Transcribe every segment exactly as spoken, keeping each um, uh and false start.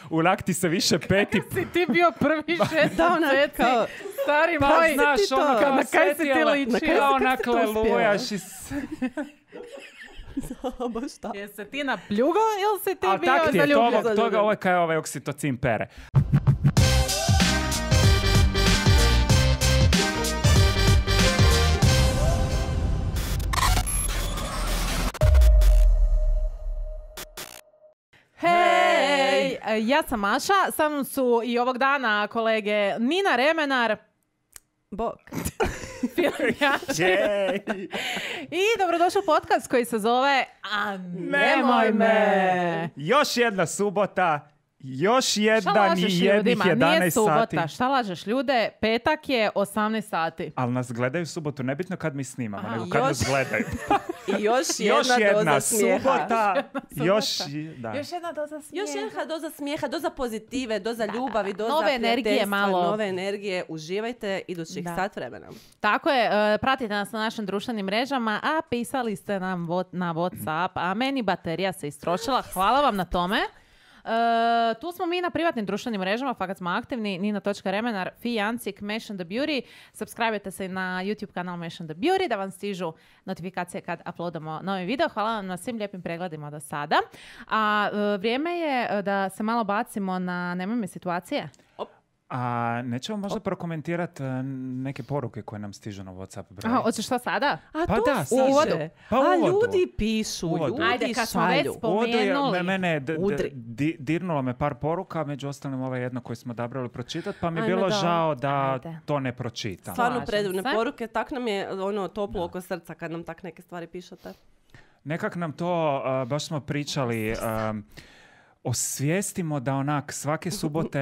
U lakti se više peti... Si ti bio prvi šest Da, ona mjeseci, kao- stari Pa moj. znaš, ono kao Na kaj si ti svetila- ličio? Na kaj si- Kao kako si onak to uspjela? lelujaš i... s- Baš šta? Jesi se ti napljugo ili si ti A bio tak ti je, zaljubljen? toga, toga ovo je kaj ovaj oksitocin pere. Hej, ja sam Maša, sa mnom su i ovog dana kolege Nina Remenar, Bog. Jej! i dobrodošli u podcast koji se zove A nemoj me. Još jedna subota, još Šta jedan i lažeš jednih ljudima? Nije jedanaest sati. subota. Šta lažeš ljude? Petak je osamnaest sati. Ali nas gledaju subotu, nebitno kad mi snimamo, Aha, nego kad još- nas gledaju. I još jedna, Još jedna doza smijeha. subota, još... Da. Još jedna doza smijeha. Još jedna doza smijeha, doza pozitive, doza ljubavi, doza Nove energije prijateljstva, malo. Nove energije. Uživajte idućih Da. sat vremena. Tako je, e, pratite nas na našim društvenim mrežama, a pisali ste nam vo- na WhatsApp, a meni baterija se istrošila. Hvala vam na tome. E, tu smo mi na privatnim društvenim mrežama, fakat smo aktivni, nina točka remenar, Fijancik, Mesh and the Beauty. Subscribe-te se na YouTube kanal Mesh and the Beauty da vam stižu notifikacije kad uploadamo novi video. Hvala vam na svim lijepim pregledima do sada. A e, vrijeme je e, da se malo bacimo na nemoj me situacije. A nećemo možda prokomentirati e, neke poruke koje nam stižu na WhatsApp broj? Aha, hoćeš što sada? A Pa to da, stiže. sad. uvodu. Pa A uvodu. ljudi pišu, Uvodu. ljudi Ajde, kad smo već šalju. spo- Uvodu je, Spomenuli. me- mene je d- d- Udri. di- dirnulo me par poruka, među ostalim ovo jedno koje smo odabrali pročitati, pa mi je Ajme, bilo da. žao da Ajde. to ne pročitam. Stvarno Slažem predivne se. poruke. Tak nam je ono toplo oko srca kad nam tak neke stvari pišete. Nekak nam to, uh, baš smo pričali, um, osvijestimo da onak svake subote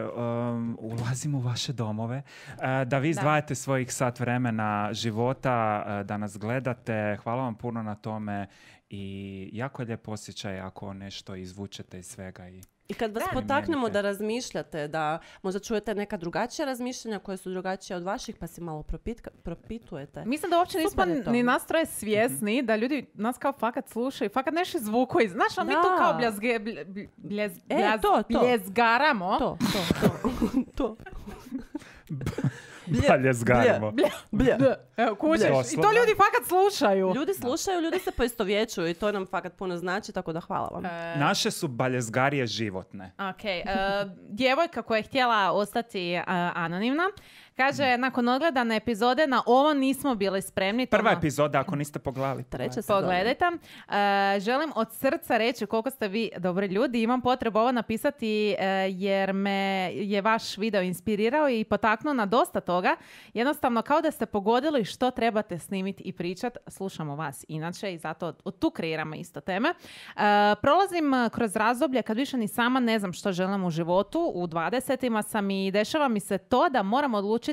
um, ulazimo u vaše domove, uh, da vi izdvajate svojih sat vremena života, uh, da nas gledate. Hvala vam puno na tome i jako je lijep osjećaj ako nešto izvučete iz svega. I... I kad vas Da. potaknemo Primijenite. da razmišljate, da možda čujete neka drugačija razmišljanja koje su drugačija od vaših, pa si malo propitka, propitujete. Mislim da uopće nismo Super je to. ni nas troje svjesni da ljudi nas kao fakat slušaju, fakat nešto zvuku iz... Znaš, a mi Da. tu kao bljazge, blj- blj- bljez, E, bljaz- to, to. bljezgaramo. To, to, to. to. Balje zgarimo. Blje, blje. D. Evo, kužiš. I to Doslovno. ljudi fakat slušaju. Ljudi slušaju, ljudi se poistovjećuju i to nam fakat puno znači, tako da hvala vam. E, Naše su baljezgarije životne. Ok, e, djevojka koja je htjela ostati e, anonimna, kaže, nakon odgledane epizode na ovo nismo bili spremni. Prva Tomo, epizoda, ako niste pogledali. Treća sezona. Pogledajte. E, želim od srca reći koliko ste vi dobri ljudi. Imam potrebu ovo napisati e, jer me je vaš video inspirirao i potaknuo na dosta toga. Jednostavno kao da ste pogodili što trebate snimiti i pričati. Slušamo vas inače i zato od, od tu kreiramo isto teme. E, prolazim e, kroz razdoblje kad više ni sama ne znam što želim u životu. U dvadesetima sam i dešava mi se to da moram odlučiti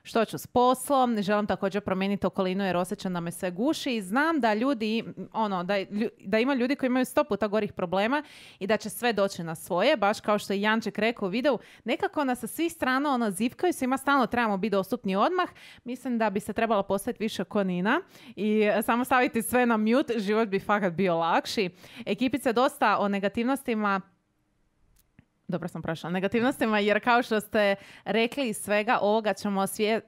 što ću s poslom, želim također promijeniti okolinu jer osjećam da me sve guši i znam da ljudi, ono, da, lju- da ima ljudi koji imaju sto puta gorih problema i da će sve doći na svoje, baš kao što je Janček rekao u videu, nekako nas sa svih strana ono zivkaju, svima stalno trebamo biti dostupni odmah. Mislim da bi se trebalo postaviti više ko Nina i e, samo staviti sve na mute, život bi fakat bio lakši. Ekipice dosta o negativnostima. Dobro sam prošla. Negativnostima, jer kao što ste rekli iz svega ovoga ćemo osvije...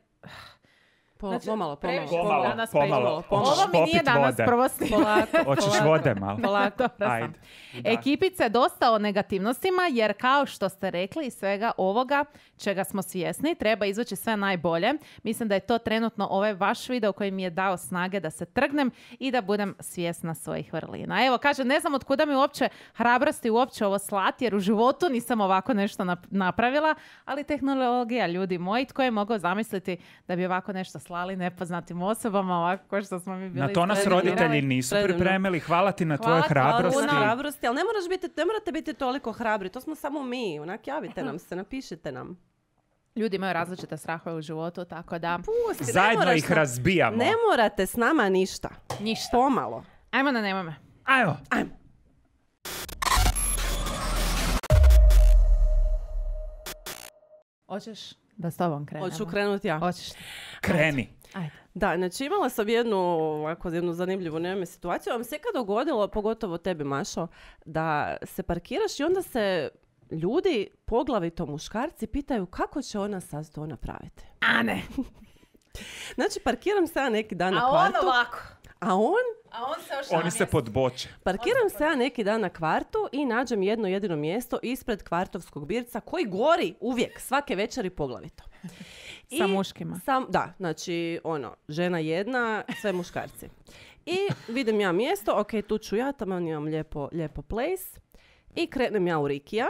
Po, Znači, pomalo, previše pomalo. Pomalo, danas pomalo. Ovo Hoćeš mi nije popit danas vode? prvo snimanje. Hoćeš vode malo? Polako, dobro sam. Ajde. Da. Ekipice dosta o negativnostima, jer kao što ste rekli iz svega ovoga čega smo svjesni, treba izvući sve najbolje. Mislim da je to trenutno ovaj vaš video koji mi je dao snage da se trgnem i da budem svjesna svojih vrlina. Evo, kaže, ne znam od kuda mi uopće hrabrosti uopće ovo slati, jer u životu nisam ovako nešto nap- napravila, ali tehnologija, ljudi moji, tko je mogao zamisliti da bi ovako nešto slali nepoznatim osobama, ovako kao što smo mi bili Na to nas isprednirali. roditelji nisu Predivno. pripremili. Hvala ti na Hvala tvojoj ti, Hvala hrabrosti. na hrabrosti, ali ne, moraš biti, ne morate biti toliko hrabri, to smo samo mi. Onak, javite nam se, napišite nam. Ljudi imaju različite strahove u životu, tako da Pusti, ne Zajedno moraš ih na- razbijamo. Ne morate s nama ništa. ništa. Pomalo. Ajmo na nemoj me. Ajmo. Ajmo. Hoćeš da s tobom krenemo? Hoću krenuti ja. Hoćeš. Kreni. Ajde. Da, znači imala sam jednu, ovako, jednu zanimljivu nevome situaciju. Vam se kad dogodilo, pogotovo tebi, Mašo, da se parkiraš i onda se ljudi, poglavito muškarci, pitaju kako će ona sad to napraviti. A ne. Znači, parkiram se ja neki dan na A kvartu. on ovako. A on? A on se još Oni se podboče. Parkiram se ja neki dan na kvartu i nađem jedno jedino mjesto ispred kvartovskog birca koji gori uvijek, svake večeri poglavito. Sa muškima. Sam, da, znači, ono, žena jedna, sve muškarci. I vidim ja mjesto, ok, tu ću ja, tamo imam lijepo, lijepo place. I krenem ja u Rikija.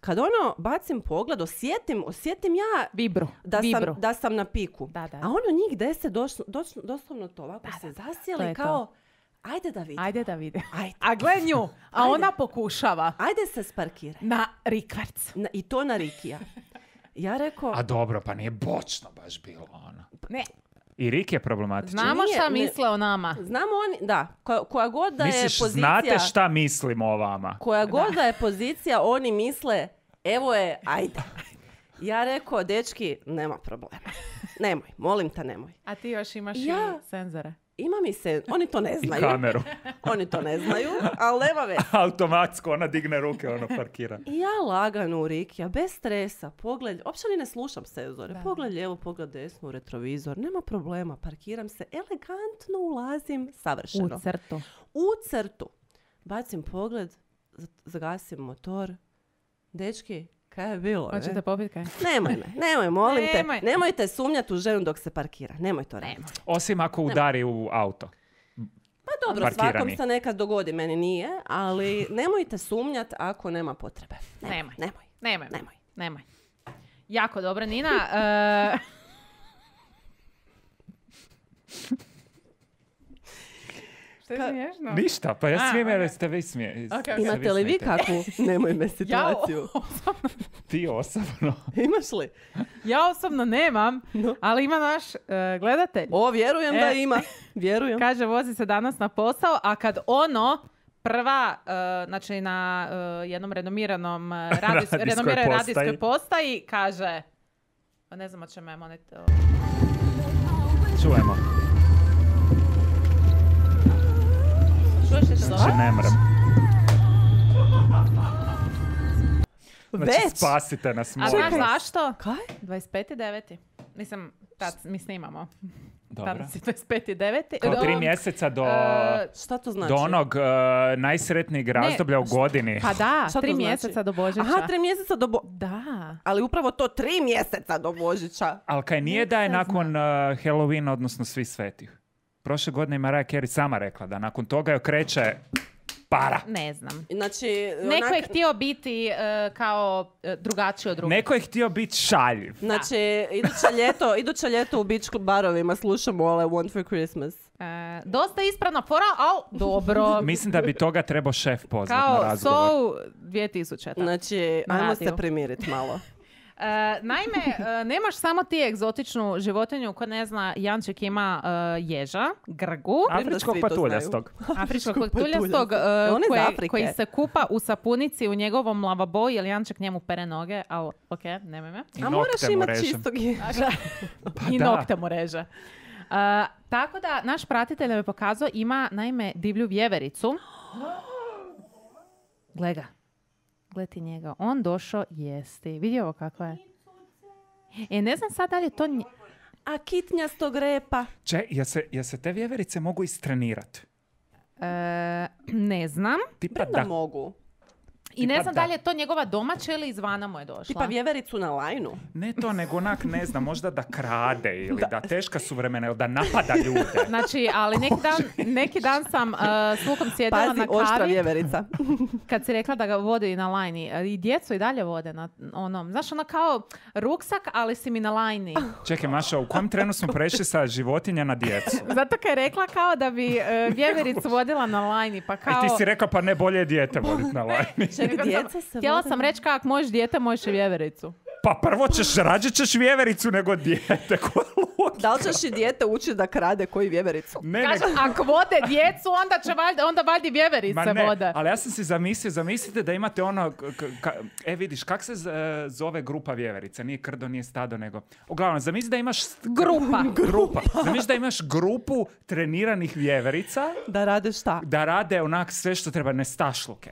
Kad ono, bacim pogled, osjetim, osjetim ja Vibru. da Vibru. sam, da sam na piku. Da, da. A ono njih deset došlo, došlo, doslovno to ovako se to zasjeli je kao, to. ajde da vidim. Ajde da vidi. Ajde. A gle nju. A Ajde. ona pokušava. Ajde se sparkiraj. Na rikverc. Na, I to na Rikija. Ja rekao, A dobro, pa nije bočno baš bilo ono. Ne. I Rik je problematičan. Znamo Nije, šta ne- misle o nama. znamo oni, da, koja, koja god da je Misliš, pozicija, znate šta mislimo o vama? koja god da je pozicija, oni misle, evo je, ajde. Ja rekao, dečki, nema problema. Nemoj, molim te, nemoj. A ti još imaš Ja- i senzore. Ima mi se, oni to ne I znaju. kameru. Oni to ne znaju, ali nema veze. Automatsko, ona digne ruke, ono parkira. I ja lagano u Rikija, bez stresa, pogled, uopće ni ne slušam senzore, Da. pogled lijevo, pogled desno, u retrovizor, nema problema, parkiram se, elegantno ulazim, savršeno. U crtu. U crtu. Bacim pogled, z- zagasim motor. Dečki, kaj je bilo? ne? Hoćete popiti kaj? Nemoj me, nemoj, molim Nemoj. te. Nemojte sumnjati u ženu dok se parkira. Nemoj to raditi. Nemoj. Osim ako udari u auto. Pa dobro, Parkirani. svakom se nekad dogodi, meni nije, ali nemojte sumnjati ako nema potrebe. Nemoj. Nemoj. Nemoj. Nemoj. Nemoj. Jako dobro, Nina. E, Što je Ka- smiješno? Ništa, pa ja A, smijem jer ok. ste vi smije. Ok, ok. se Imate li vi smijete. kakvu? Nemoj me Ja, situaciju. osobno, Ti osobno. Imaš li? ja osobno nemam, No. ali ima naš e, gledatelj. O, vjerujem E. da ima. Vjerujem. Kaže, vozi se danas na posao, a kad ono prva, e, znači na e, jednom renomiranom e, radijs- Radijskoj renomiranoj postaji. radijskoj postaji, kaže, pa ne znam o čemu je monet... o- Čujemo. Čuješ li to Znači dobro? ne mrem. Znači Već? spasite nas, A molim znaš vas. zašto? Kaj? dvadeset peti deveti Mislim, tad mi snimamo. Dobro. Danas je dvadeset peti deveti Kao tri Do- mjeseca do, e, Šta to znači? do onog uh, najsretnijeg razdoblja u godini. Pa da, Šta to tri znači? mjeseca do Božića. Aha, tri mjeseca do bo... Da. Ali upravo to tri mjeseca do Božića. Ali kaj nije da je nakon uh, Halloweena, odnosno Svi svetih. Prošle godine je Mariah Carey sama rekla da nakon toga joj kreće para. Ne znam. Znači, Neko onak- je htio biti e, kao e, drugačiji od drugih. Neko je htio biti šaljiv. Znači, iduće ljeto, iduće ljeto u beach barovima slušamo All I Want for Christmas. E, dosta ispravna fora, al dobro. Mislim da bi toga trebao šef pozvati na Kao razgovor. So dvije tisuće Znači, Na ajmo radiju. se primiriti malo. E, naime, e, nemaš samo ti egzotičnu životinju koja ne zna, Janček ima e, ježa, grgu, Afričkog Svi to patuljastog. afričkog patuljastog. patuljastog, E, on je iz koje, Afrike. koji se kupa u sapunici u njegovom lavaboji, jer Janček njemu pere noge, ali ok, nemoj me. I A moraš nokte mu imati režem. čistog ježa. I da. nokte mu reže. Uh, tako da, naš pratitelj nam je pokazao, ima naime divlju vjevericu. Gle ga. Gle ti njega. On došao jesti. Vidi ovo kako je. E, ne znam sad da li je to... nje- A kitnjastog repa. Če, jel se, jel se te vjeverice mogu istrenirati? E, ne znam. Tipa Da da. mogu. I ne Tipa znam da. da li je to njegova domaća ili izvana mu je došla. Tipa vjevericu na lajnu. Ne to, nego onak, ne znam, možda da krade ili da, teška su vremena ili da napada ljude. Znači, ali neki dan, neki dan sam uh, s Lukom sjedila Pazi, na oštra kavi. vjeverica. Kad si rekla da ga vode i na lajni. I djecu i dalje vode na onom. Znaš, ona kao ruksak, ali si mi na lajni. Čekaj, Maša, u kom trenu smo prešli sa životinja na djecu? Zato kad je rekla kao da bi uh, vjevericu vodila na lajni. Pa kao... I ti si rekao, pa ne, bolje je dijete voditi na lajni. Čekaj, Nego sam- djeca se Htjela vode sam na- reći kako možeš dijete, možeš i vjevericu. Pa prvo ćeš, rađe ćeš vjevericu nego dijete. Da li ćeš i dijete učiti da krade koji vjevericu? Ne, Kaže, nego- ako vode djecu, onda će valjda, onda valjda vjeverice Ma ne, vode. ali ja sam si zamislio, zamislite da imate ono, k- k- e vidiš, kak se z- zove grupa vjeverica? Nije krdo, nije stado, nego... Uglavnom, zamisli da imaš... Grupa. Grupa. Zamisli da imaš grupu treniranih vjeverica Da rade šta? da rade onak sve što treba, nestašluke.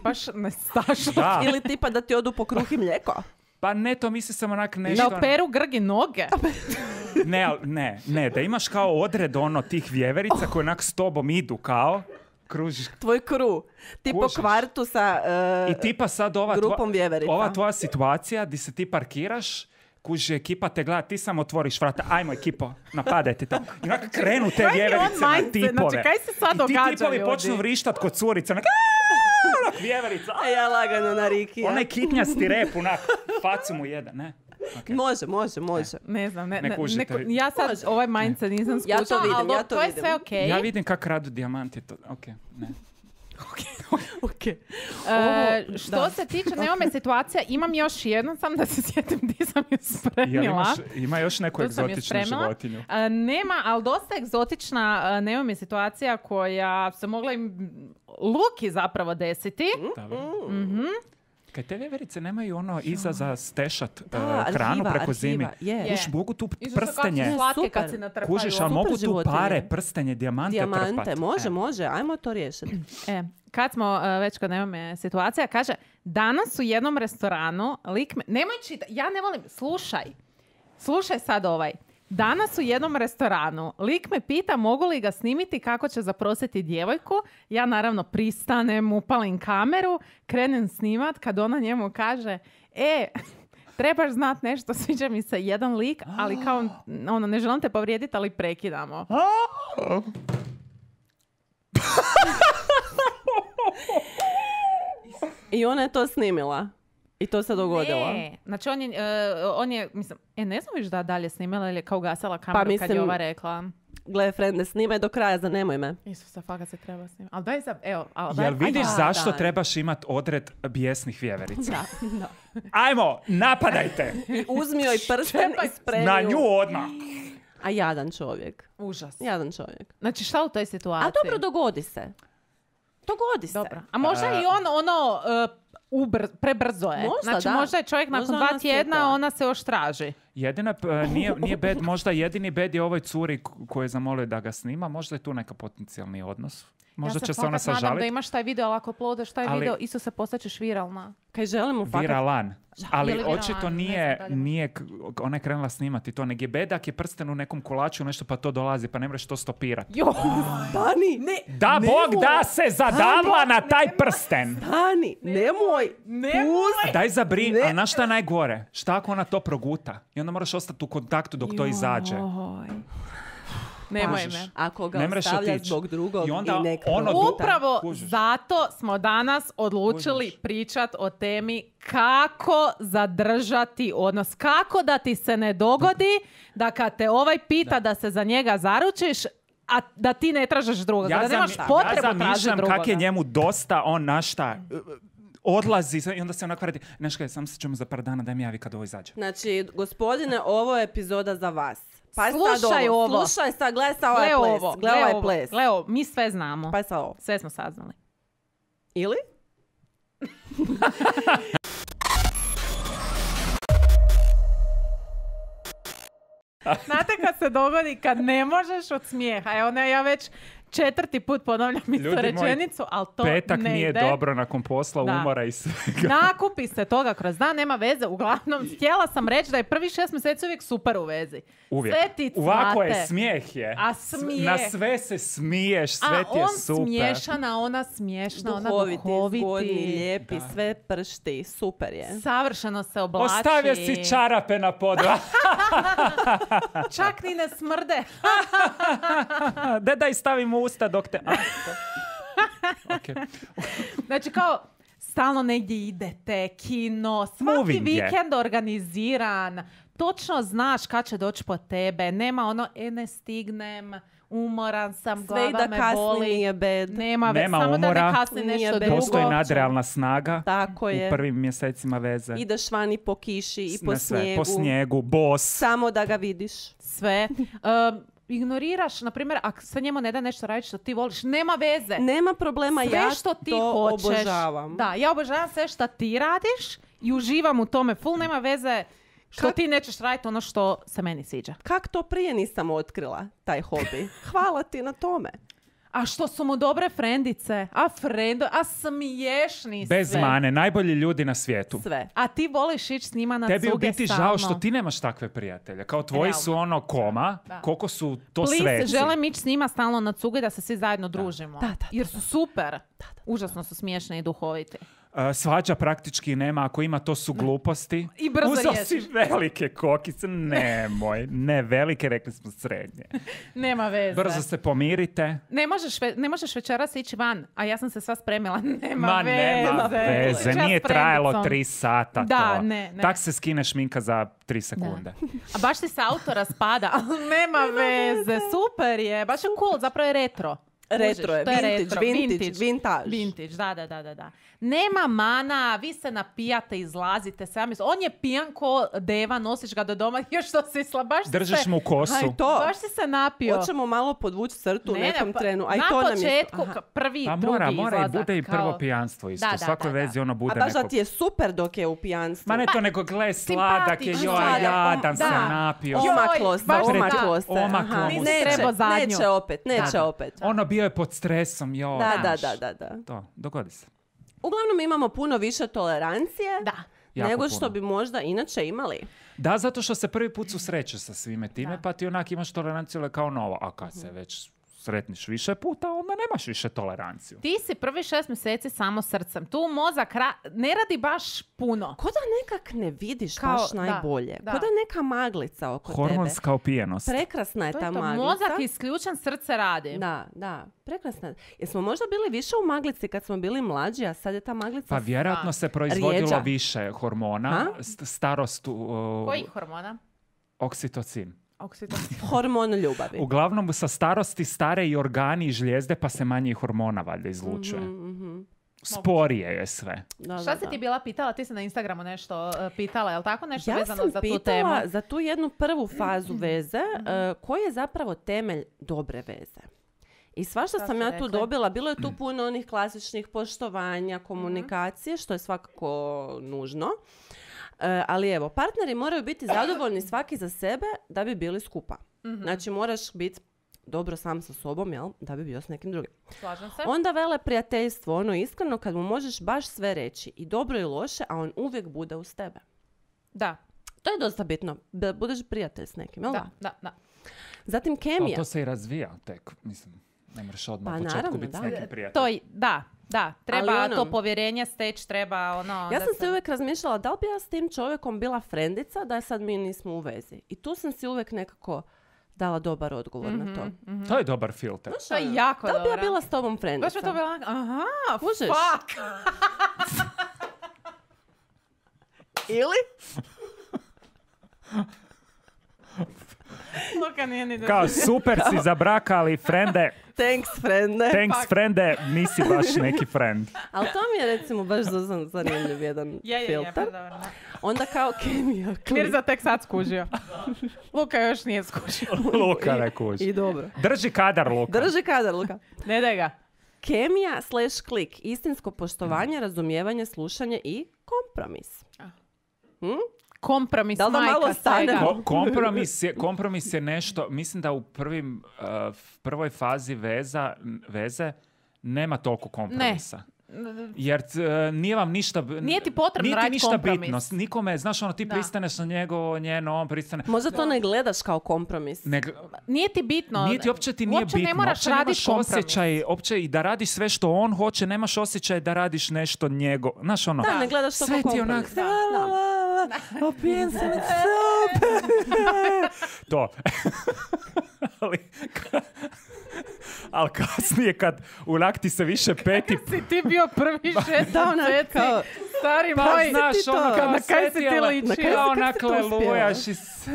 Baš ne stašlo. Da. Ili tipa da ti odu po kruh i mlijeko? Pa ne, to misli sam onak nešto... Da operu grgi noge. Ne, al- ne, ne, da imaš kao odred ono tih vjeverica koje onak s tobom idu kao, kružiš. Tvoj kru. Ti po Kužiš. kvartu sa uh, I tipa sad ova, grupom tvo- vjeverica. ova tvoja situacija di se ti parkiraš, kuži, ekipa te gleda, ti samo otvoriš vrata, ajmo ekipo, napadajte to. I onako krenu te Koji je on vjeverice na mindset? tipove. Znači, kaj se sad I događa, ti tipovi ljudi? počnu vrištat kod curica, onak, "Aaaa", onak vjeverica. A ja lagano na Rikija. Onaj kitnjasti rep, onak, facu mu jedan, ne? Okay. Može, može, može. Ne znam, ne, Ne ne, kužite neko- vi. ja sad Može. ovaj mindset nisam Ja to skušala, vidim, ali ja to to je vidim. sve okej. Ja vidim kak radu dijamanti, to, ok, ne. Okay. E, Ovo, što da. se tiče neome situacija, imam još jednu, sam da se sjetim di sam ju Jel spremila. imaš, ima još neku Tu sam ju egzotičnu spremila. životinju? E, nema, ali dosta egzotična uh, neome situacija koja se mogla im Luki zapravo desiti. Dobro. Mhm. Kaj te vjeverice nemaju ono iza za stešat Da, uh, hranu arhiva, preko zimi? arhiva, je. Je. Kuš, mogu tu Isto su kako prstenje. su slatke Super. kad si natrpaju. Kužiš, ali Super mogu tu životinje. pare, prstenje, dijamante, Dijamante, trpat. može, E. može. Ajmo to riješiti. E, kad smo uh, već kod nemome situacija, kaže, danas u jednom restoranu, lik me, nemoj čitati, ja ne volim, slušaj, slušaj sad ovaj. Danas u jednom restoranu, lik me pita mogu li ga snimiti kako će zaprositi djevojku. Ja naravno pristanem, upalim kameru, krenem snimat kad ona njemu kaže, e, trebaš znat nešto, sviđa mi se jedan lik, ali kao, ono, ne želim te povrijediti, ali prekidamo. I ona je to snimila. I to se dogodilo. Ne, znači on je, e, on je, mislim, e, ne znam viš da dalje snimala ili je kao gasala kameru kad je mislim- ova rekla. Gle, frende, snimaj do kraja, zanemoj me. Isuse, fakat se treba snimati. Ali daj za, evo, ali daj, Jel vidiš da, zašto da. trebaš imat odred bijesnih vjeverica? Da, da. Ajmo, napadajte! I uzmi joj prsten i spremi Na ju. nju odmah! A jadan čovjek. Užas. Jadan čovjek. Znači šta u toj situaciji? A dobro, dogodi se. Dogodi se. Dobro. A možda A- i on ono, uh, ubr, prebrzo je. Možda, znači da. možda je čovjek nakon Možda dva ona tjedna, sjetila. ona se još traži. Jedina, p- nije, nije bed, možda jedini bed je ovoj curi k- koju je zamolio da ga snima, možda je tu neka potencijalni odnos. Možda ja će se fakat ona nadam da sažaliti. imaš taj video, ali ako uploadaš taj Ali- video, isto se postaćeš viralna. Kaj želimo fakat... Viralan. Ali Je li viralan? očito Ne nije, znam dalje. nije k- ona je krenula snimati to, nego je bedak je prsten u nekom kolaču, nešto pa to dolazi, pa ne možeš to stopirati. Jo, Dani, ne, Da Bog da se zadavla na taj prsten! Dani, nemoj. nemoj! Daj zabri, Ne. a na šta je najgore? Šta ako ona to proguta? I onda moraš ostati u kontaktu dok to izađe. Joj. Nemoj Kužiš. me. Ako ga Ne mreš ostavlja otići. zbog drugog I onda nek ono proguta. Upravo Kužiš. zato smo danas odlučili Kužiš. pričat o temi kako zadržati odnos. Kako da ti se ne dogodi da kad te ovaj pita da, se za njega zaručiš, a da ti ne tražiš drugoga. da nemaš zami- potrebu ja tražiti zamišljam drugoga. kak je njemu dosta, on na šta, odlazi i onda se onako vrati. Znaš kaj, sam se ćemo za par dana, daj mi javi kad ovo izađe. Znači, gospodine, ovo je epizoda za vas. Pa Slušaj sad ovo. Slušaj sad, gledaj sad ovaj Gle ples. ovo, Gledaj gle ovaj ovo, ples. gle ovo, mi sve znamo. Pa sad ovo. Sve smo saznali. Ili? Znate kad se dogodi kad ne možeš od smijeha. Evo ne, ja već četvrti put ponavljam istu Ljudi moji, rečenicu, ali to Petak ne nije ide. dobro nakon posla, Da. umora i svega. Nakupi se toga kroz dan, nema veze. Uglavnom, htjela sam reći da je prvi šest mjeseci uvijek super u vezi. Uvijek. Sve ti Ovako je, cvate. smijeh je. A S- smijeh. Na sve se smiješ, sve A ti je on super. smiješana, ona smiješna, ona Duhoviti, duhoviti. zgodni, lijepi, Da. sve pršti. Super je. Savršeno se oblači. Ostavio si čarape na podu. Čak ni ne smrde. Da daj stavim u usta dok te... A, to- Ok. Znači kao stalno negdje idete, kino, svaki Moving je. vikend organiziran, točno znaš kad će doći po tebe, nema ono, e ne stignem, umoran sam, Sve i glava da me kasni boli. nije bed. Nema, ve- Nema samo da umora, ne kasni nije nešto bez- drugo. Postoji nadrealna snaga Tako je. u prvim mjesecima veze. Ideš vani po kiši i po Na sve, snijegu. po snijegu, bos. Samo da ga vidiš. Sve. Um, ignoriraš, na primjer, ako se njemu ne da nešto raditi što ti voliš, nema veze. Nema problema, Sve ja što ti to hoćeš. obožavam. Da, ja obožavam sve što ti radiš i uživam u tome. Full nema veze što Kak- ti nećeš raditi ono što se meni sviđa. Kak to prije nisam otkrila, taj hobi? Hvala ti na tome. A što su mu dobre frendice, a frendo, a smiješni Bez sve. mane, najbolji ljudi na svijetu. Sve. A ti voliš ići s njima na Tebi u cuge biti stalno. žao što ti nemaš takve prijatelje. Kao tvoji su ono koma, Da. koliko su to Please, sveci. želim ići s njima stalno na cuge da se svi zajedno družimo. Da, da, da, Jer su super. Užasno su smiješni i duhoviti. Uh, svađa praktički nema, ako ima to su gluposti. I brzo Uzeo riješiš. si velike kokice, nemoj, ne velike, rekli smo srednje. Nema veze. Brzo se pomirite. Ne možeš, ve- ne možeš večeras ići van, a ja sam se sva spremila. Nema Ma veze. nema veze, Čas nije trajalo frendicom. tri sata Da, to. ne, ne. Tak se skine šminka za tri sekunde. A baš ti se auto raspada. Nema veze, super je. Baš je cool, zapravo je retro. Retro je, To vintage, retro, vintage, vintage. Vintage, da, da, da, da, da. Nema mana, vi se napijate, izlazite sami. On je pijan ko deva, nosiš ga do doma, još što si sla, baš si Držiš se, mu kosu. Aj, to. baš si se napio. Hoćemo malo podvući crtu u Ne, ne, nekom pa trenu. Aj, na to nam je... početku, Aha. ka- prvi, Pa drugi mora, mora i izlazak, bude i kao- prvo pijanstvo isto. Da, da, U svakoj da, da. vezi ono A bude baš da neko... ti je super dok je u pijanstvu. Ma ne to nego gle sladak je, simpatično joj, je. jadan se Da. napio. Joj, Omaklo se, baš da. omaklo se. Omaklo Aha, mu se. neće, Trebao zadnju. neće opet, neće Da. opet. Ono bio je pod stresom, joj. Da, da, znaš. da, da, da. To, dogodi se. Uglavnom imamo puno više tolerancije Da. Jako nego puno. što bi možda inače imali. Da, zato što se prvi put susrećeš sa svime time, pa ti onak imaš toleranciju ali kao novo. A kad se već sretniš više puta, onda nemaš više toleranciju. Ti si prvi šest mjeseci samo srcem. Tu mozak ra- ne radi baš puno. Ko da nekak ne vidiš Kao- baš da, najbolje. da. Ko da neka maglica oko Hormonska opijenost. tebe. Prekrasna je To ta je to, maglica. mozak je isključen, srce radi. Da, da, prekrasna. Jesmo možda bili više u maglici kad smo bili mlađi, a sad je ta maglica... Pa vjerojatno se proizvodilo Rijeđa. više hormona. Ha? St- Starost, uh, Kojih hormona? oksitocin. Oksitocin. Hormon ljubavi. Uglavnom sa starosti stare i organi i žlijezde, pa se manje i hormona valjda izlučuje. Mhm, mhm. Sporije je sve. Da, Šta da, si da. ti bila pitala? Ti si na Instagramu nešto uh, pitala, je li tako? Nešto Ja vezano sam za tu temu? pitala za tu jednu prvu fazu veze, uh, koji je zapravo temelj dobre veze. I svašta Šta sam su ja tu rekli? dobila. Bilo je tu puno onih klasičnih poštovanja, komunikacije, što je svakako nužno. Uh, ali evo, partneri moraju biti zadovoljni svaki za sebe da bi bili skupa. Znači, moraš biti dobro sam sa sobom, jel? Da bi bio s nekim drugim. Slažem se. Onda vele prijateljstvo, ono iskreno, kad mu možeš baš sve reći, i dobro i loše, a on uvijek bude uz tebe. Da, To je dosta bitno, da budeš prijatelj s nekim, jel? da, da, da. Zatim Ali kemija. to se i razvija tek, mislim. Ne moraš odmah Pa u početku naravno, biti da. s nekim prijateljem. To, i- da, da. Treba Ali ono- to povjerenje steći, treba ono... Ja da sam se- se uvijek razmišljala da li bi ja s tim čovjekom bila frendica, da je sad mi nismo u vezi. I tu sam si uvijek nekako dala dobar odgovor na to. To je dobar filter. To je jako Da li bi ja dobro. bila s tobom Baš frendica? mi to bila... Aha, Kužiš? fuck. Ili? Luka nije ni da... Kao super si za brak, ali frende, Thanks, frende. thanks frende, nisi baš neki friend. Ali to mi je recimo baš zan- zanimljiv jedan Je, je, je, filter. pa dobro, da. Onda kao kemija. klik. Mirza tek sad skužio. Luka još nije skužio. Luka ne kuži. I dobro. Drži kadar, Luka. Drži kadar, Luka. Ne daj ga. Kemija slash klik. Istinsko poštovanje, razumijevanje, slušanje i kompromis. Hm? Kompromis, Da li da majka malo svega. stanemo? Ko- kompromis, je, kompromis je nešto, mislim da u prvim, uh, prvoj fazi veza, veze nema toliko kompromisa. Jer uh, nije vam ništa... b- Nije ti potrebno nije ti raditi ništa kompromis. bitno. S- Nikome, znaš, ono, ti Da. pristaneš na njegovo, njeno, on pristane. Možda to ne gledaš kao kompromis. Ne, Nije ti bitno. Nije ti, uopće ti nije Uopće bitno. ne moraš Uopće raditi nemaš kompromis. osjećaj, uopće i da radiš sve što on hoće, nemaš osjećaj da radiš nešto njego. Znaš, ono, Da, ne gledaš to sve kao ti kompromis. onak, Da, da. opijen sam super. To. ali, ka- ali kasnije kad onak ti se više peti... Si ti bio prvi šest Da, onak mjeseci. kao- Stari Pa moj. znaš, ti to? ono, Kad- kao na kaj si ti setila- ličio? Na kaj si- Kao kak si onak to uspjela? lelujaš i s-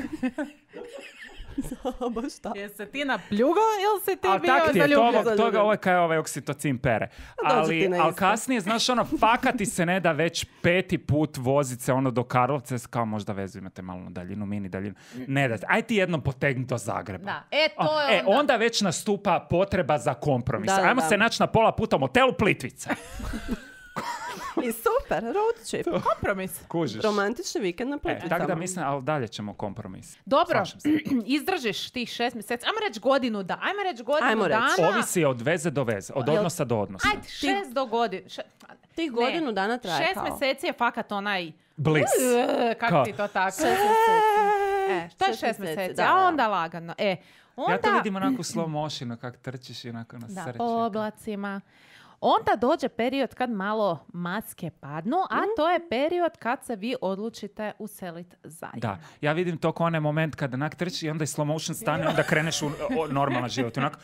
Baš tako. Jesi se ti napljugo ili si ti Ali bio tak ti je, zaljubljen? toga, toga ovo je kaj ovaj oksitocin pere. dođe ti Ali, na ali isto. kasnije, znaš, ono, faka ti se ne da već peti put vozit se ono do Karlovca, kao možda vezu imate malo na daljinu, mini daljinu. Ne da, aj ti jednom potegni do Zagreba. Da, e to je E, onda. onda već nastupa potreba za kompromis. Da, da, Ajmo da. se naći na pola puta u motelu Plitvice. I super, road trip. Kompromis. Kužiš. Romantični vikend na E, Plitvicama. tako da mislim, ali dalje ćemo kompromis. Dobro, Slažem se. izdržiš tih šest mjeseci. Ajmo reći godinu da. Ajmo reći godinu Ajmo reći. dana. Ovisi od veze do veze, od Jel- odnosa do odnosa. Ajde, šest do godinu. Še... Tih Ne. godinu dana traje Šest kao. mjeseci je fakat onaj... Bliss. Uh, kako Kao? ti to tako? Šest mjeseci. E, to je šest šest mjeseci, mjeseci, da, a da. onda lagano. E, onda... Ja to vidim onako u slow motionu, kak trčiš i onako na Da, srće. po oblacima. Onda dođe period kad malo maske padnu, a Mhm. to je period kad se vi odlučite useliti zajedno. Da, ja vidim to kao onaj moment kada onak trči i onda je slow motion stane, onda kreneš u o, normalan život. Onak,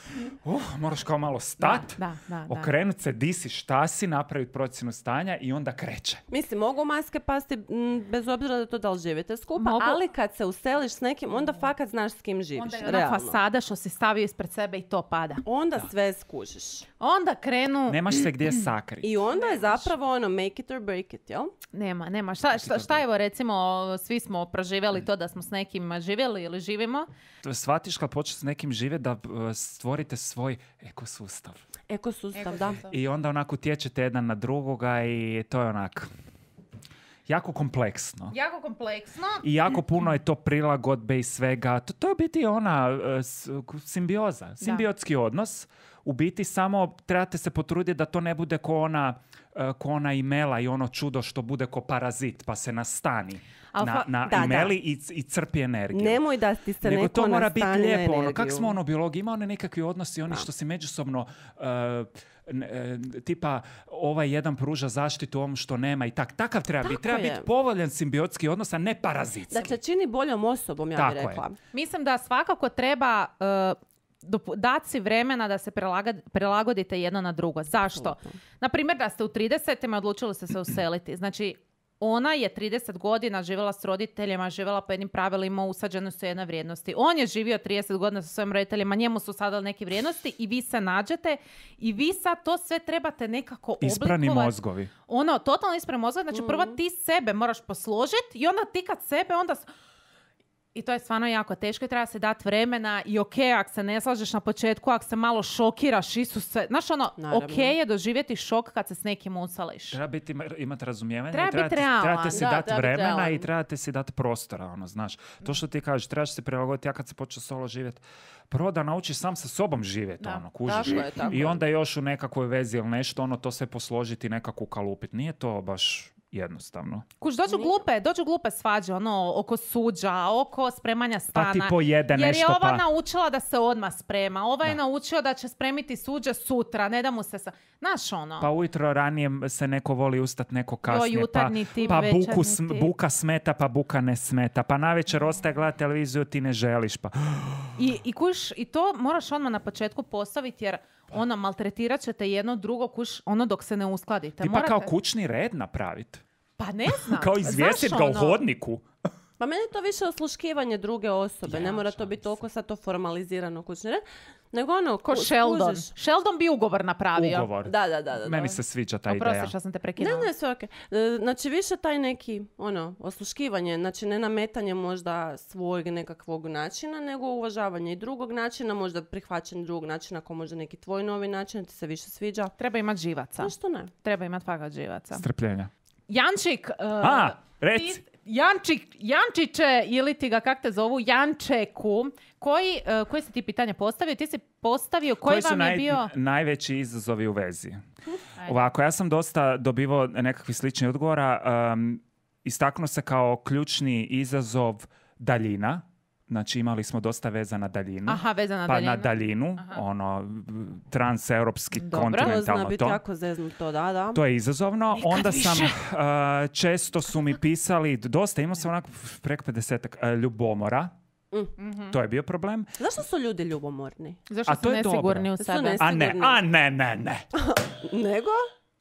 uh, moraš kao malo stat, Da, da, da. okrenut se, di si, šta si, napraviti procjenu stanja i onda kreće. Mislim, mogu maske pasti m, bez obzira da to da li živite skupa, Mogu. ali kad se useliš s nekim, onda fakat znaš s kim živiš. Onda je ona realno. fasada što si stavio ispred sebe i to pada. Onda sve skužiš. Onda krenu... Nemaš se gdje sakriti. I onda je zapravo ono make it or break it, jel? Nema, nema. Šta, šta, šta evo recimo, svi smo proživjeli to da smo s nekim živjeli ili živimo. To shvatiš kad počneš s nekim živjeti da uh, stvorite svoj ekosustav. Ekosustav, da. I onda onako utječete jedan na drugoga i to je onak jako kompleksno. Jako kompleksno. I jako puno je to prilagodbe i svega. To, to je u biti ona uh, s- simbioza, simbiotski odnos. U biti samo trebate se potruditi da to ne bude ko ona, uh, ko ona imela i ono čudo što bude ko parazit, pa se nastani Al na, fa- na da, da. imeli i, c- i crpi energiju. Nemoj da ti se Nego neko to mora biti nastani na lijepo. Ono, kak energiju. smo ono biologiji, ima one nekakvi odnosi, oni što si međusobno uh, n- e, tipa ovaj jedan pruža zaštitu ovom što nema i tak. Takav treba biti. Tako Treba je. biti povoljan simbiotski odnos, a ne parazitski. Dakle, čini boljom osobom, ja Tako bih je. rekla. Mislim da svakako treba uh, dati si vremena da se prilaga- prilagodite jedno na drugo. Zašto? Na primjer, da ste u tridesetima odlučili ste se useliti. Znači, ona je trideset godina živjela s roditeljima, živjela po jednim pravilima, usađene su jedne vrijednosti. On je živio trideset godina sa svojim roditeljima, njemu su sadali neke vrijednosti i vi se nađete i vi sad to sve trebate nekako Isprani oblikovati. mozgovi. Ono, totalno isprani mozgovi. Znači, prvo ti sebe moraš posložiti i onda ti kad sebe, onda... s- I to je stvarno jako teško i treba se dati vremena i ok, ako se ne slažeš na početku, ako se malo šokiraš, Isuse, znaš ono, Naravno. ok je doživjeti šok kad se s nekim usališ. Treba biti, imati razumijevanje. Treba i trebate, biti realan. trebate si Da, dati treba biti vremena realan. i trebate si dati prostora, ono, znaš. To što ti kažeš, trebaš se prilagoditi. Ja kad se počeo solo živjeti, prvo da naučiš sam sa sobom živjeti, Da. ono, kužiš. Tako je, tako I je. onda još u nekakvoj vezi ili nešto, ono, to sve posložiti, nekako ukalupiti. Nije to baš jednostavno. Kuš, dođu glupe, dođu glupe svađe, ono, oko suđa, oko spremanja stana. Pa ti pojede Jer je nešto, ova pa- naučila da se odmah sprema, ova je Da. naučio da će spremiti suđe sutra, ne da mu se sa... Znaš ono, Pa ujutro ranije se neko voli ustat, neko kasnije. jutarnji pa, tip, pa buku, večernji sm- tip. buka smeta, pa buka ne smeta. Pa navečer ostaje gledati televiziju, ti ne želiš. Pa I, i kuš, i to moraš odmah na početku postaviti jer ono, maltretirat ćete jedno drugo kuš, ono dok se ne uskladite. ti pa kao Morate- kućni red napraviti. Pa ne znam. Kao izvijestit Znaš, ga u ono, hodniku. Pa meni je to više osluškivanje druge osobe. Ja, ne mora to šalim biti se. toliko sad to formalizirano kućni red. Nego ono, Ko ku- Sheldon. skužiš. Sheldon bi ugovor napravio. Ugovor. Da, da, da. da, Meni da. se sviđa ta ideja. Oprosti što sam te Ne, prekinula. ne, sve okej. E, Znači, više taj neki, ono, osluškivanje, znači ne nametanje možda svojeg nekakvog načina, nego uvažavanje i drugog načina, možda prihvaćanje drugog načina, ako možda neki tvoj novi način ti se više sviđa. Treba imat živaca. Zašto ne? Treba imat fakat živaca. Strpljenja. Jančik. uh, A, reci. ti- Jančik, Jančiće, ili ti ga kak te zovu, Jančeku, koji, uh, koji si ti pitanje postavio? Ti si postavio koji, Koji su vam je naj- bio... najveći izazovi u vezi? Ajde. Ovako, ja sam dosta dobivao nekakvih sličnih odgovora. Um, istaknuo se kao ključni izazov daljina. Znači imali smo dosta veza na daljinu. Aha, vezana pa daljina. na daljinu, Aha. ono, transeuropski, Dobro. To zna kontinentalno biti to. jako zeznuto, da, da. To je izazovno. Nikad Onda više. sam, uh, često su mi pisali, dosta, imao sam onako preko pedesetak uh, ljubomora. Mhm. To je bio problem. Zašto su ljudi ljubomorni? Zašto A su to je nesigurni dobro. u Su sebe? nes- A ne, Sigurno. a ne, ne, ne. Nego?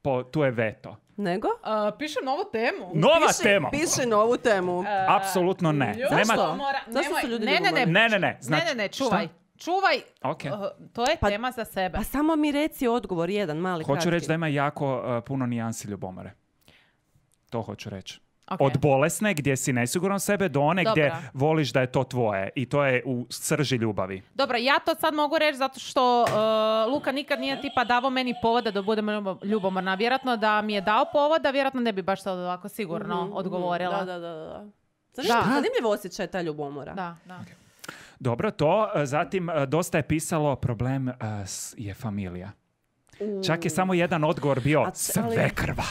po, tu je veto. Nego? Uh, pišem novu temu. Nova Piši- tema. Piši novu temu. Uh, Apsolutno ne. Zašto? Nema... Mora, Zašto nemoj- su ljudi ne, ne, ne, ljubomorni? Ne, ne, ne. Znači, ne, ne, ne, čuvaj. šta? Čuvaj. Ok. Uh, to je Pa- tema za sebe. Pa samo mi reci odgovor, jedan mali Hoću kratki. reći da ima jako uh, puno nijansi ljubomore. To hoću reći. Ok. Od bolesne gdje si nesiguran sebe do one Dobra. gdje voliš da je to tvoje. I to je u srži ljubavi. Dobro, ja to sad mogu reći zato što uh, Luka nikad nije tipa davao meni povoda da budem ljubo- ljubomorna. Vjerojatno da mi je dao povoda, vjerojatno ne bi baš sad ovako sigurno Mhm, odgovorila. Da, da, da. da. Zanimljiv, Da. zanimljiv osjećaj ta ljubomora. Da, da. Dobro, to. uh, Zatim, uh, dosta je pisalo problem uh, s- je familija. U. Čak je samo jedan odgovor bio A c- ali- svekrva.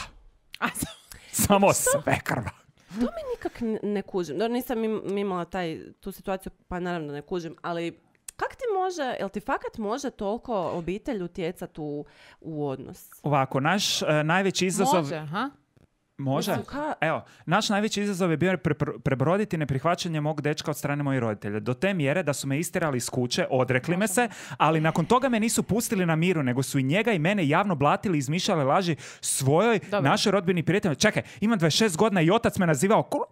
A, s- Samo svekrva. To mi nikak n- ne kužim. Dobro, nisam im- imala taj, tu situaciju, pa naravno ne kužim, ali kak ti može, jel ti fakat može toliko obitelj utjecati u, u odnos? Ovako, naš uh, najveći izazov... može, ha? Može? Mislim, ka- Evo, naš najveći izazov je bio pre- prebroditi neprihvaćanje mog dečka od strane mojih roditelja. Do te mjere da su me istjerali iz kuće, odrekli me se, ali nakon toga me nisu pustili na miru, nego su i njega i mene javno blatili i izmišljali laži svojoj, Dobro. našoj rodbini prijatelji. Čekaj, imam dvadeset šest godina i otac me nazivao kopi,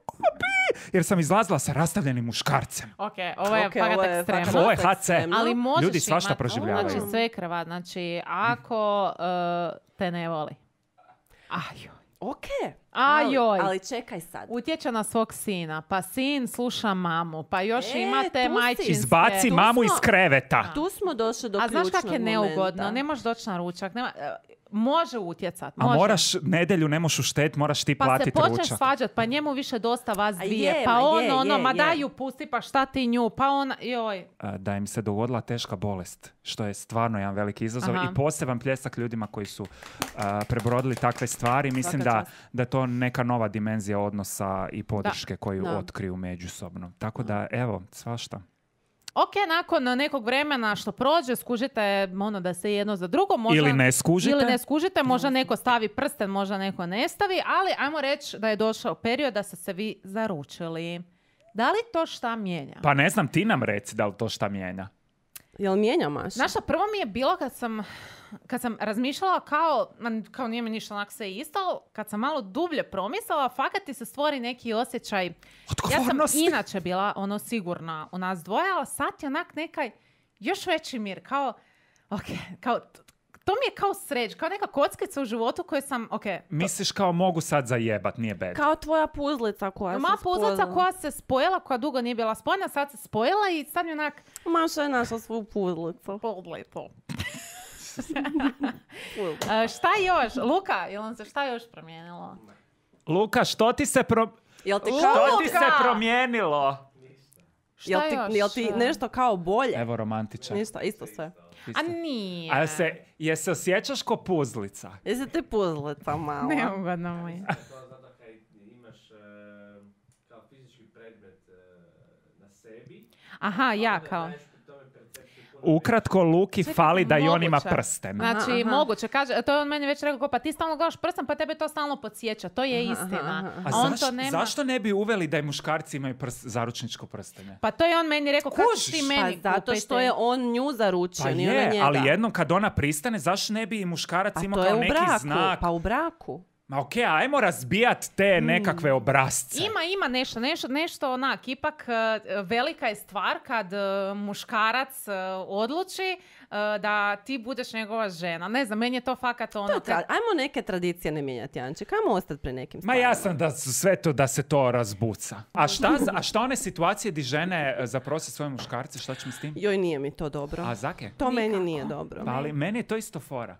jer sam izlazila sa rastavljenim muškarcem. Ok, ovo je Ok, fakat ovo je ekstremno. fakat Ovo je ha ce. ekstremno. Ali možeš Ljudi svašta imat- proživljavaju. Znači, sve krva. Znači, ako uh, te ne voli. Ajoj. Ok. Ajoj. Ali, ali čekaj sad. Utječe na svog sina, pa sin sluša mamu, pa još E, imate tu si. majčinske. Izbaci Tu mamu smo- iz kreveta. Tu smo došli do A znaš ključnog kak je momenta. neugodno? Ne možeš doći na ručak. Nema, e, može utjecat. A Može. moraš nedjelju, ne možeš uštet, moraš ti Pa se platiti počneš ručak. svađat, pa njemu više dosta vas A dvije. je, pa ma on, je, ono, je, ma je. daj ju pusti, pa šta ti nju, pa ona, joj. A, da im se dogodila teška bolest, što je stvarno jedan veliki izazov Aha. i poseban pljesak ljudima koji su a, prebrodili takve stvari. Mislim Svaka da, čast. da je to neka nova dimenzija odnosa i podrške koju Da. otkriju međusobno. Tako da, evo, svašta. Ok, nakon nekog vremena što prođe, skužite ono da se jedno za drugo možda... Ili ne skužite. Ili ne skužite, možda neko stavi prsten, možda neko ne stavi, ali ajmo reći da je došao period da ste se vi zaručili. Da li to šta mijenja? Pa ne znam, ti nam reci da li to šta mijenja. Jel mijenja Maša? Znaš šta, prvo mi je bilo kad sam, kad sam razmišljala kao, ma, kao nije mi ništa onak sve isto, ali kad sam malo dublje promislila, fakat ti se stvori neki osjećaj. Ja sam Odgovornosti. inače bila ono sigurna u nas dvoje, ali sad je onak nekaj još veći mir, kao, ok, kao, t- to mi je kao sreć, kao neka kockica u životu koju sam, ok, Misliš kao mogu sad zajebat, nije bed. Kao tvoja puzlica koja moja se puzlica spojila. koja se spojila, koja dugo nije bila spojena, sad se spojila i sad mi onak, Maša je našla svu puzlicu. to. E, šta još? Luka, jel vam se šta još promijenilo? Luka, što ti se pro... Jel ti, Luka! kao, Što ti se promijenilo? Šta jel ti, još? jel ti nešto kao bolje? Evo romantičan. Ništa, isto sve. A nije. A se, je se osjećaš ko puzlica? Jesi ti puzlica mala? Neugodno mu je. To zato kad imaš e, kao fizički predmet e, na sebi, Aha, ja onda kao. daješ pri tome percepciju puno Ukratko, Luki Čekaj, fali da i on ima moguće. prsten. Aha, Znači, aha. moguće, kaže, to je on meni već rekao, kao, pa ti stalno gledaš prstom, pa tebe to stalno podsjeća. To je Aha, istina. aha, aha. A A on zaš- to nema. zašto ne bi uveli da i muškarci imaju prst, zaručničko prstenje? Pa to je on meni rekao, kako Kužiš? ti Pa meni zato kupiti? što je on nju zaručio, Pa nije ona je, njega. ali jednom kad ona pristane, zašto ne bi i muškarac Pa imao to je kao u neki braku, znak? pa u braku. Ma okej, ajmo razbijat te Mm. nekakve obrazce. Ima, ima nešto, nešto, nešto onak, ipak e, velika je stvar kad e, muškarac e, odluči e, da ti budeš njegova žena. Ne znam, meni je to fakat ono... To je tra- Ajmo neke tradicije ne mijenjati, Anček. Ajmo ostati pri nekim Ma stvarima. ja sam da su sve to da se to razbuca. A šta, za- a šta one situacije di žene e, zaprose svoje muškarce, šta ćemo s tim? Joj, nije mi to dobro. A zake? To meni Nikako. nije dobro. Pa ali meni je to isto fora.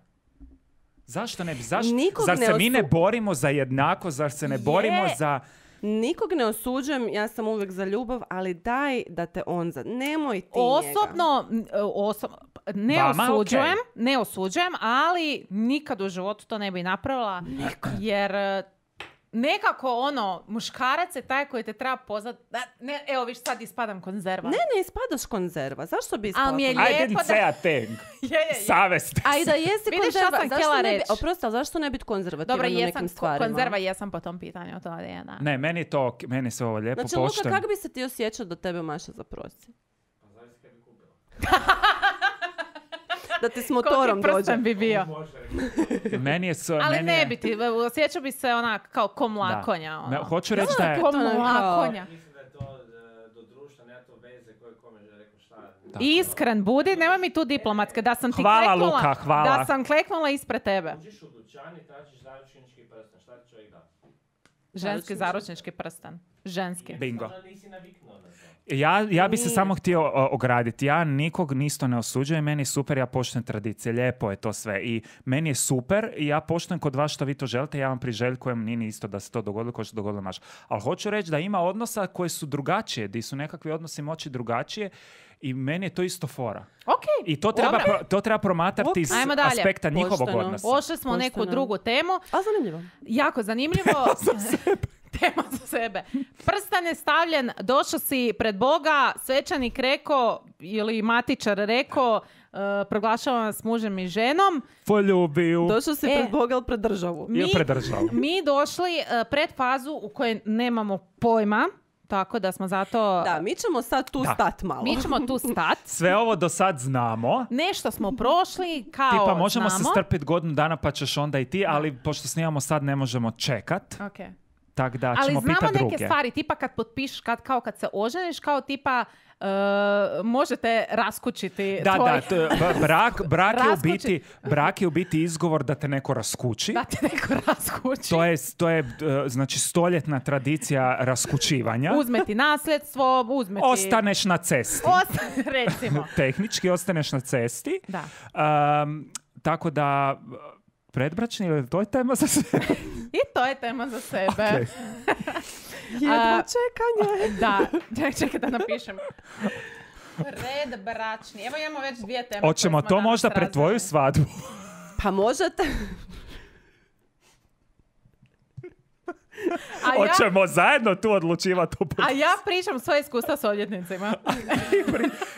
Zašto ne bi? Zašto? Nikog Zar ne se mi ne osu- borimo za jednako? Zar se ne borimo Je. za... Nikog ne osuđujem, ja sam uvijek za ljubav, ali daj da te on za... Nemoj ti njega. Osobno, m, e, oso- ne Vama, osuđujem, okej. ne osuđujem, ali nikad u životu to ne bi napravila. Jer e, nekako ono, muškarac je taj koji te treba pozvat. Da, ne, evo viš sad ispadam konzerva. Ne, ne ispadaš konzerva. Zašto bi ispala Ali mi je konzerva? I lijepo didn't da- say a thing. Je, je, je. Savest. A i da jesi Vidiš šta konzerva, sam zašto htjela ne bi... reći? Oprosti, ali zašto ne biti konzervativan Dobro, u jesam nekim ko- stvarima? konzerva, jesam po tom pitanju, to je da. Ne, meni je to, ok, meni je sve ovo lijepo, Znači, Luka, pošteno. kako bi se ti osjećao da tebe Maša zaprosi? pa zavisi kad bi kupila. da ti s motorom Koliki dođe. prsten bi bio. Meni je... So, Ali meni ne je... bi ti, osjećao bi se onak kao ko mlakonja. Me- Ono. hoću reći da je... Ko To je mlakonja. Mislim da je to e, do društva, nema to veze koje kome je rekao šta. Iskren budi, nema mi tu diplomatske. Da sam ti Hvala, kleknula, Luka, hvala. da sam kleknula ispred tebe. Uđiš u dućan i tražiš zaručnički prsten, šta ti čovjek da? Ženski zaručnički prsten. Ženski. Bingo. Možda nisi naviknuo na to. Ja, ja bi se Nije. samo htio o, ograditi. Ja nikog nisto ne osuđujem, meni je super, ja poštujem tradicije, lijepo je to sve. I meni je super i ja poštujem kod vas što vi to želite, ja vam priželjkujem, nije ni isto da se to dogodilo kao što se dogodilo naš. Ali hoću reći da ima odnosa koji su drugačije, di su nekakvi odnosi moći drugačije i meni je to isto fora. Ok. I to treba, pro- to treba promatrati iz Ajmo dalje. aspekta njihovog Pošteno. odnosa. Ošli smo u neku Pošteno. drugu temu. A zanimljivo. Jako zanimljivo. Tema za sebe. Prstan je stavljen, došao si pred Boga, svećanik rekao ili matičar rekao, uh, proglašavam vas mužem i ženom. Poljubiju. Došao si E. pred Boga ili pred državu? I predržao. mi došli uh, pred fazu u kojoj nemamo pojma, tako da smo zato... Da, mi ćemo sad tu Da. stat malo. Mi ćemo tu stat. Sve ovo do sad znamo. Nešto smo prošli, kao Tipa možemo znamo. se strpiti godinu dana pa ćeš onda i ti, ali pošto snimamo sad ne možemo čekat. Okay. Tak da Ali ćemo znamo pitat neke druge. stvari, tipa kad potpišeš, kad, kao kad se oženiš, kao tipa uh, možete raskućiti Da, tvoj... da, to je- b- brak, brak, je u Raskući. biti, brak je u biti izgovor da te neko raskući. da ti neko raskući. To je, to je uh, znači stoljetna tradicija raskućivanja. Uzme ti nasljedstvo, uzme ti... Ostaneš na cesti. Osta- recimo. Tehnički ostaneš na cesti. Da. Um, tako da, predbračni, ili to je tema za sve? I to je tema za sebe. Ok. Jedva A- čekanje. Da, čekaj, čekaj da napišem. Predbračni. Evo imamo već dvije teme. Hoćemo koje smo to danas možda pred tvoju razvili. svadbu? Pa možete. A ja, Hoćemo zajedno tu odlučivati. u a ja pričam svoje iskustva s odvjetnicima.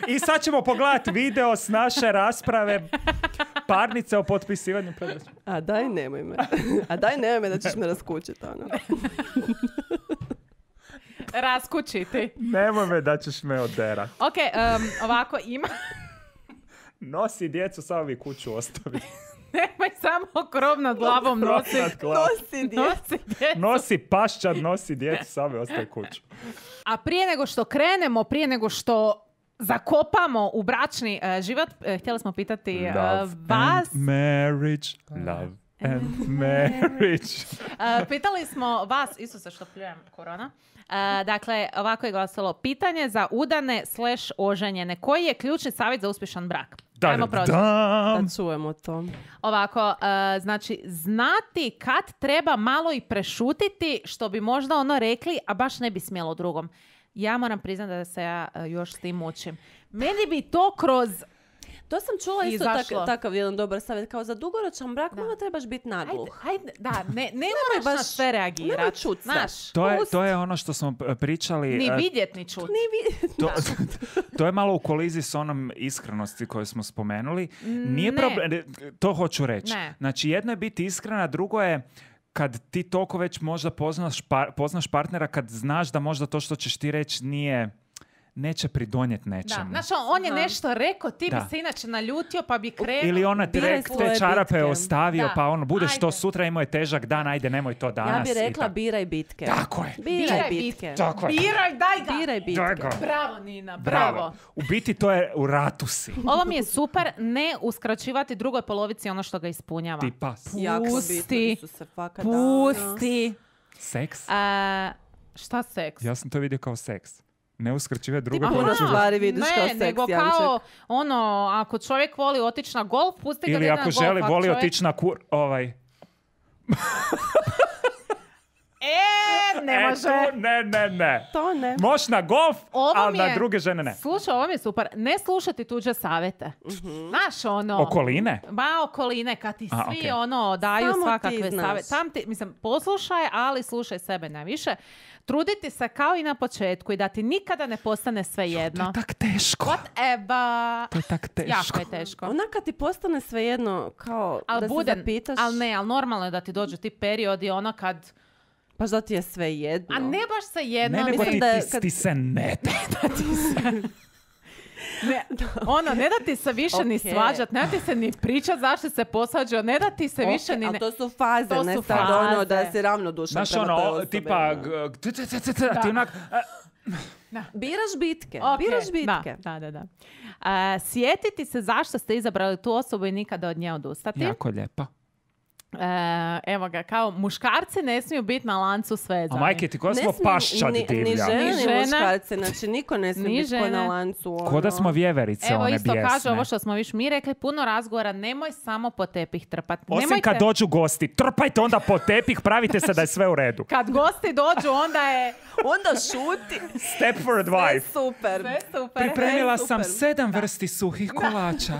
I sad ćemo pogledati video s naše rasprave parnice o potpisivanju predbračja. A daj nemoj me. A daj nemoj me da ćeš me raskućiti. Ono. Raskućiti. Nemoj me da ćeš me oderat. Ok, um, ovako ima... Nosi djecu, samo vi kuću ostavi. Nemoj samo krov nad glavom nosi. Nad glavom. Nosi djecu. Nosi djecu. Nosi paščad, nosi djecu, samo ostavi kuću. A prije nego što krenemo, prije nego što zakopamo u bračni uh, život, uh, htjeli smo pitati uh, Love vas... and marriage. Love and marriage. Uh, pitali smo vas, Isuse što pljujem, korona. Uh, dakle, ovako je glasilo pitanje za udane slash oženjene. Koji je ključni savjet za uspješan brak? Ajmo proći. Da-da-dam. Da čujemo to. Ovako, uh, znači, znati kad treba malo i prešutiti što bi možda ono rekli, a baš ne bi smjelo drugom. Ja moram priznati da se ja uh, još s tim mučim. Meni bi to kroz... To sam čula isto Izašlo. tak, takav jedan dobar savjet. Kao za dugoročan brak malo trebaš biti nagluh. Ajde, ajde, da, ne, ne moraš baš- na sve nemoj reagirati. čut se. Znaš, To je, pust. to je ono što smo p- pričali. Ni e, vidjet, ni čut. Ni vi... To, to je malo u koliziji s onom iskrenosti koju smo spomenuli. Nije Ne. problem, to hoću reći. Ne. Znači, jedno je biti iskrena, drugo je kad ti toliko već možda poznaš, par- poznaš partnera, kad znaš da možda to što ćeš ti reći nije, neće pridonijeti Da, nečemu. znaš, on- on je Aha. nešto rekao, ti Da. bi se inače naljutio pa bi krenuo. Ili ona ti Biraj rek, svoje te čarape bitke. ostavio, Da. pa ono, budeš to Ajde. sutra, imao je težak dan, ajde, nemoj to danas. Ja bih i rekla tako. biraj bitke. Tako je. Biraj, Biraj bitke. Tako je. Biraj, daj ga! Biraj bitke. Daj ga. Bravo, Nina, bravo. Bravo. U biti to je u ratu si. Ovo mi je super, ne uskraćivati drugoj polovici ono što ga ispunjava. Ti pas. Jako Pusti. bitno, Isuse, fakat, da. Pusti. Seks? A, šta seks? Ja sam to vidio kao seks. Ne uskraćive druge puno polovice. stvari vidiš ne, kao seks, nego Janček. kao, ono, ako čovjek voli otići na golf, pusti ga da Ili ide na ako golf. želi, Ako voli čovjek- otići na kur... Ovaj... E, ne E, može. tu ne, ne, ne. To ne. Moš na golf, Ovo ali mi na je- druge žene ne. Slušaj, ovo mi je super. Ne slušati tuđe savjete. Znaš, ono... Okoline? Ba, okoline, kad ti A, svi okej. ono daju Samo ti svakakve znaš. savjete. Tam ti, mislim, poslušaj, ali slušaj sebe najviše. Truditi se kao i na početku i da ti nikada ne postane sve To jedno. je tak teško. Whatever. To je tak teško. Jako je teško. Onak kad ti postane svejedno kao Al da buden, se zapitaš, ali ne, ali normalno je da ti dođu ti periodi ono kad... baš da ti je svejedno. A ne baš se jedno, Ne, nego mislim ti, da je ti, kad- ti se ne da. Ne, ono, ne da ti se više okay. ni svađat, ne da ti se ni pričat zašto se posvađao, ne da ti se okay, više ni... Ali to su faze, to ne su sad faze. ono da se ravnodušan prema toj osobi. Znaš ono, tipa, ti onak... Biraš bitke, okay. biraš bitke. Da, da, da. Uh, sjetiti se zašto ste izabrali tu osobu i nikada od nje odustati. Jako lijepo. E, evo ga, kao muškarci ne smiju biti na lancu svezani. A majke ti, ko smo paščad divlja? Ni žene, ni ni žene. muškarci, znači niko ne smije biti ko na lancu. Ono. Ko da smo vjeverice, evo, one isto bijesne. kaže ovo što smo viš mi rekli, puno razgovora, nemoj samo po tepih trpati. Osim Nemojte... kad dođu gosti, trpajte onda po tepih, pravite se da je sve u redu. Kad gosti dođu, onda je... Onda šuti. Step for advice. Sve super. Sve super. Pripremila Sve sam super. sedam vrsti suhih kolača.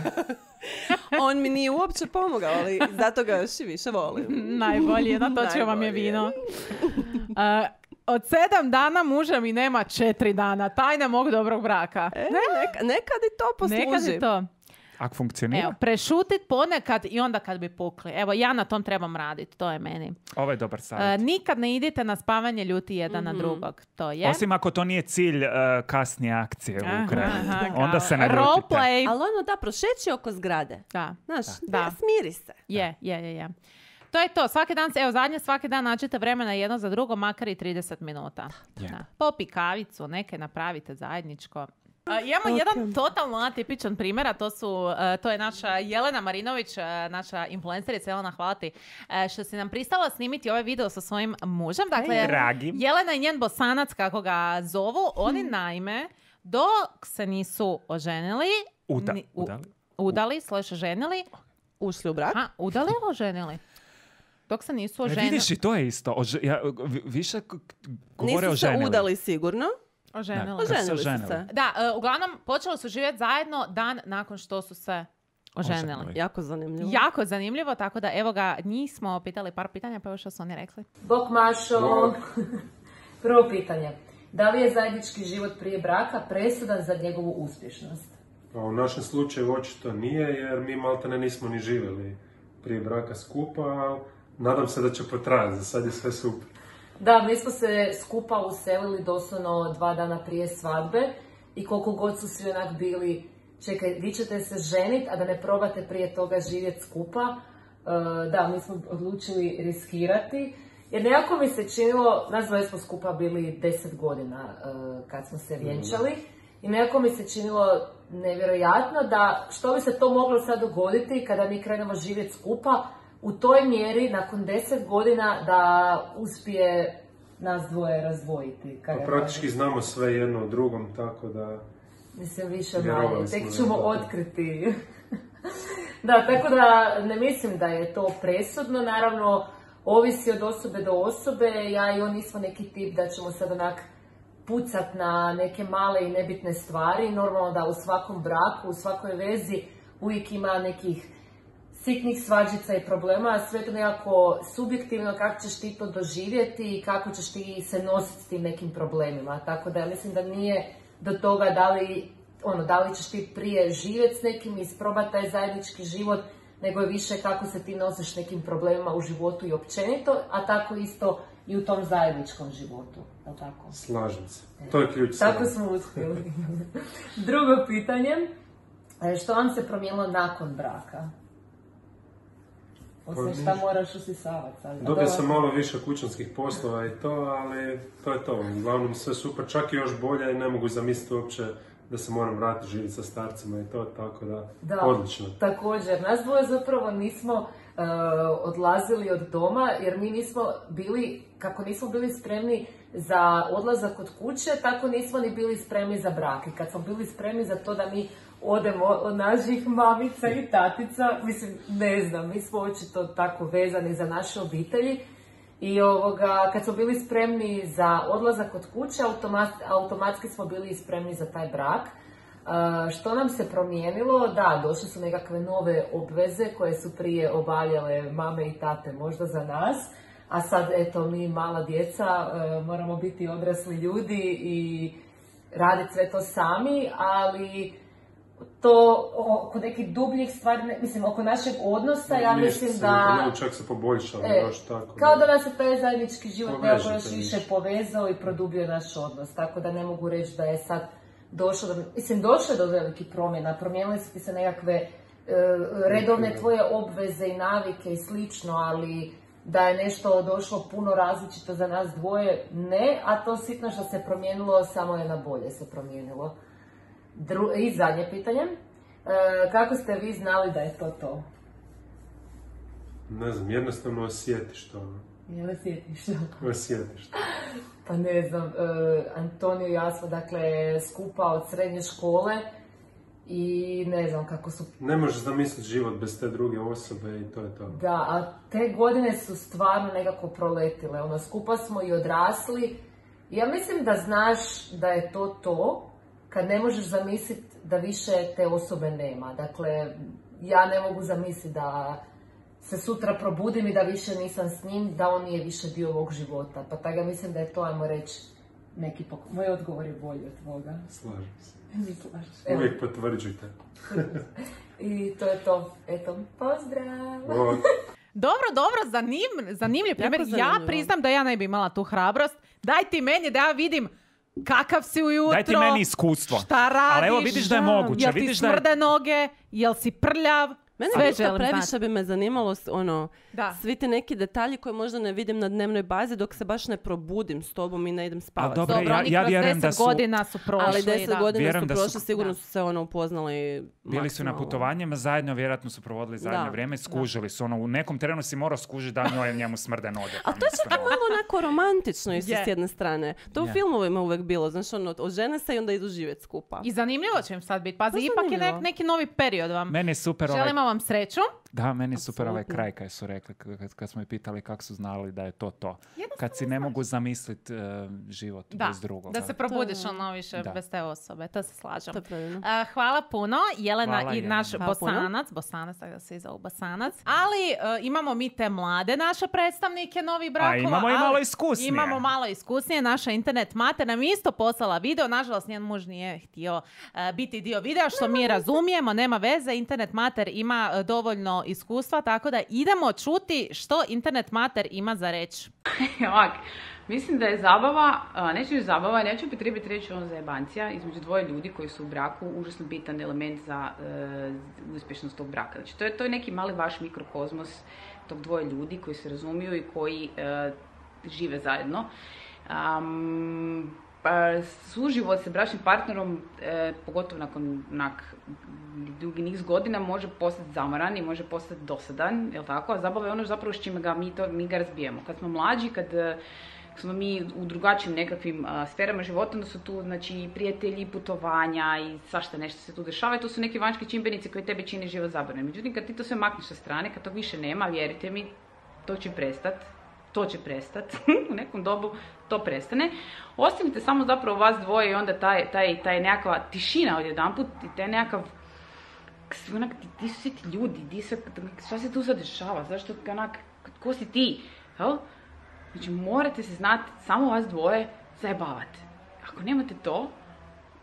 On mi nije uopće pomogao, ali zato ga još i više volim. Najbolje, natočio vam je vino. Uh, od sedam dana muža mi nema četiri dana. Tajna mog dobrog braka. E, neka, nekad i to posluži. Nekad i to. Ako funkcionira? Evo, prešutit ponekad i onda kad bi pukli. Evo, ja na tom trebam raditi, to je meni. Ovo je dobar savjet. Uh, nikad ne idite na spavanje ljuti jedan mm-hmm. na drugog. To je. Osim ako to nije cilj uh, kasnije akcije u Ukrajini. Onda se ne ljutite. Roleplay. Ali ono da, prošeći oko zgrade. Da. Znaš, da. da. smiri se. Je, je, je, je. To je to. Svaki dan, evo zadnje, svaki dan nađite vremena jedno za drugo, makar i trideset minuta. Yeah. Da. Popi kavicu, neke napravite zajedničko. Uh, imamo okay. jedan totalno atipičan primjer, a to, su, uh, to je naša Jelena Marinović, uh, naša influencerica. Jelena, hvala ti uh, što si nam pristala snimiti ovaj video sa svojim mužem. Dakle, Dragi. Jelena i njen Bosanac, kako ga zovu, oni hmm. naime, dok se nisu oženili, Uda, ni, u, udali, udali slash ženili, ušli u brak. a, udali ili oženili? Dok se nisu oženili. E, vidiš i to je isto. Ože, ja, više govore nisu oženili. se udali sigurno. Oženili. Da, oženili su oženili. se. Da, uh, uglavnom počeli su živjeti zajedno dan nakon što su se oženili. Oženili. Jako zanimljivo. Jako zanimljivo, tako da evo ga, njih smo pitali par pitanja, pa evo što su oni rekli. Bok Mašo, prvo pitanje. Da li je zajednički život prije braka presudan za njegovu uspješnost? Pa u našem slučaju očito nije, jer mi maltene nismo ni živjeli prije braka skupa, ali nadam se da će potrajati, za sad je sve super. Da, mi smo se skupa uselili doslovno dva dana prije svadbe i koliko god su svi onak bili, čekaj, vi ćete se ženit, a da ne probate prije toga živjeti skupa. Uh, da, mi smo odlučili riskirati, jer nekako mi se činilo, nas dvoje smo skupa bili deset godina uh, kad smo se vjenčali, i nekako mi se činilo nevjerojatno da što bi se to moglo sad dogoditi kada mi krenemo živjeti skupa, u toj mjeri, nakon deset godina, da uspije nas dvoje razdvojiti. Pa praktički znamo sve jedno o drugom, tako da... Mislim, više manje. Tek ćemo otkriti. Da, tako da ne mislim da je to presudno. Naravno, ovisi od osobe do osobe. Ja i on nismo neki tip da ćemo sad onak pucat na neke male i nebitne stvari. Normalno da u svakom braku, u svakoj vezi uvijek ima nekih sitnih svađica i problema, sve to nekako subjektivno kako ćeš ti to doživjeti i kako ćeš ti se nositi s tim nekim problemima. Tako da ja mislim da nije do toga da li, ono, da li ćeš ti prije živjeti s nekim i isprobati taj zajednički život, nego je više kako se ti nosiš nekim problemima u životu i općenito, a tako isto i u tom zajedničkom životu. Je tako? Slažem se. To je ključ. Tako smo uspjeli. Drugo pitanje, što vam se promijenilo nakon braka? Osim šta moraš usisavati sad. Dobio sam malo više kućanskih poslova i to, ali to je to. Uglavnom sve super, čak i još bolje i ne mogu zamisliti uopće da se moram vratiti živjeti sa starcima i to, tako da, da odlično. Također, nas dvoje zapravo nismo uh, odlazili od doma, jer mi nismo bili, kako nismo bili spremni za odlazak od kuće, tako nismo ni bili spremni za brak. I kad smo bili spremni za to da mi odemo od naših mamica i tatica, mislim, ne znam, mi smo očito tako vezani za naše obitelji. I ovoga, kad smo bili spremni za odlazak od kuće, automat, automatski smo bili spremni za taj brak. Uh, što nam se promijenilo? Da, došle su nekakve nove obveze koje su prije obavljale mame i tate možda za nas, a sad, eto, mi mala djeca uh, moramo biti odrasli ljudi i raditi sve to sami, ali to oko nekih dubljih stvari, ne, mislim, oko našeg odnosa, ja mislim se, da... Ne, čak se poboljšalo, e, još tako. Kao da nas je taj zajednički život nekako još više više. povezao i produbio naš odnos, tako da ne mogu reći da je sad došlo do, mislim, došlo je do velikih promjena, promijenili su ti se nekakve e, redovne tvoje obveze i navike i slično, ali da je nešto došlo puno različito za nas dvoje, ne, a to sitno što se promijenilo, samo je na bolje se promijenilo. Dru- I zadnje pitanje, e, kako ste vi znali da je to to? Ne znam, jednostavno osjetiš to. Jel osjetiš to? Osjetiš to. Pa ne znam, uh, Antonio i ja smo dakle skupa od srednje škole i ne znam kako su... Ne možeš zamisliti život bez te druge osobe i to je to. Da, a te godine su stvarno nekako proletile, ono, skupa smo i odrasli. Ja mislim da znaš da je to to, kad ne možeš zamisliti da više te osobe nema. Dakle, ja ne mogu zamisliti da se sutra probudim i da više nisam s njim, da on nije više dio ovog života. Pa tako ja mislim da je to, ajmo reći, neki pok... Moj odgovor je bolji od tvoga. Slažem se. Mi slažeš. Evo. Uvijek potvrđujte. I to je to. Eto, pozdrav! O, Dobro, dobro, zanim, zanimljiv primjer. Ja zanimljivo. priznam da ja ne bi imala tu hrabrost. Daj ti meni da ja vidim kakav si ujutro. Daj ti meni iskustvo. Šta radiš? Ali evo vidiš da je moguće. Jel ti Vidiš da je... smrde noge? Jel si prljav? Mene Sve ništa želim previše znati. bi me zanimalo, s- ono, Da. svi ti neki detalji koje možda ne vidim na dnevnoj bazi dok se baš ne probudim s tobom i ne idem spavati. dobro, Dobro, ja- oni ja kroz vjerujem deset da su- godina su prošli. Ali deset da. godina Vjerujem su da su- prošli, sigurno Da. su se ono upoznali Bili su na maksimalno. putovanjima zajedno, vjerojatno su provodili zajedno Da, vrijeme, skužili su. Ono, u nekom trenu si morao skužiti da njoj njemu smrde noge. Ali to je mislim, tako ono. malo onako romantično isto Je. s jedne strane. To u Je. filmovima uvijek bilo, znaš, ono, ožene se i onda idu živjeti skupa. I zanimljivo će im sad biti. Pazi, Baš ipak je zanimljivo. nek- neki novi period vam. Meni je super ovaj... Želimo vam sreću. Da, meni je super ovaj Apsolutno. kraj kad su rekli, kad, kad smo ih pitali kako su znali da je to to. Jednostavno Kad si ne mogu zamisliti uh, život Da, bez drugoga. da se probudiš To je- ono više Da. bez te osobe. To se slažem. To je predivno. A, hvala puno, Jelena Hvala, i Jelena. naš Hvala puno. Bosanac, Bosanac, tako da se i zovu Bosanac. Ali e, imamo mi te mlade naše predstavnike novih brakova. imamo i ali malo iskusnije. Imamo malo iskusnije. Naša internet mater nam je isto poslala video. Nažalost, njen muž nije htio e, biti dio videa, što mi razumijemo, nema veze. Internet mater ima e, dovoljno iskustva, tako da idemo čuti što internet mater ima za reći. Ovak, mislim da je zabava, a, neću reći zabava, neću upotrijebiti reći ono zajebancija između dvoje ljudi koji su u braku užasno bitan element za e, uspješnost tog braka. Znači, to je, to je neki mali vaš mikrokozmos tog dvoje ljudi koji se razumiju i koji e, žive zajedno. Am, pa, suživot sa bračnim partnerom, e, pogotovo nakon onak, dugi niz godina, može postati zamoran i može postati dosadan, jel tako? A zabava je ono zapravo s čime ga mi, to, mi ga razbijemo. Kad smo mlađi, kad e, smo mi u drugačijim nekakvim a, sferama života, onda su tu, znači, prijatelji, putovanja i svašta nešto se tu dešava i to su neki vanjski čimbenici koji tebi čine život zabavnim. Međutim, kad ti to sve makneš sa strane, kad to više nema, vjerujte mi, to će prestat. To će prestat. U nekom dobu to prestane. Ostanite samo zapravo vas dvoje i onda taj, taj, taj nekakva tišina odjedanput i taj nekakav onak, di su svi ti ljudi, di se, šta se tu sad dešava, zašto onak, ko si ti, jel? Znači, morate se znati, samo vas dvoje zajebavati. Ako nemate to,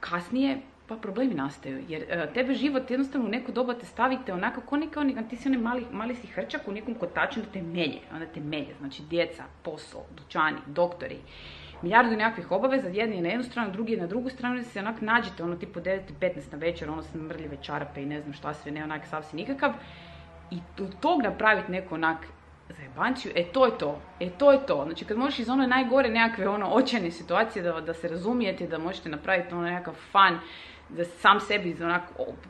kasnije, pa problemi nastaju. Jer uh, tebe život jednostavno u neko doba te stavite onako, ko neka, on, ti si onaj mali, mali si hrčak u nekom kotaču da te melje, onda te melje. Znači, djeca, posao, dućani, doktori, milijardu nekakvih obaveza, jedni je na jednu stranu, drugi je na drugu stranu, da se onak nađete, ono tipu devet i petnaest na večer, ono smrljive čarape i ne znam šta sve, ne onak sav si nikakav. I od tog napraviti neko onak zajebanciju, e to je to, e to je to. Znači kad možeš iz one najgore nekakve ono očajne situacije da, da se razumijete, da možete napraviti ono nekakav fun, da sam sebi iz, onak,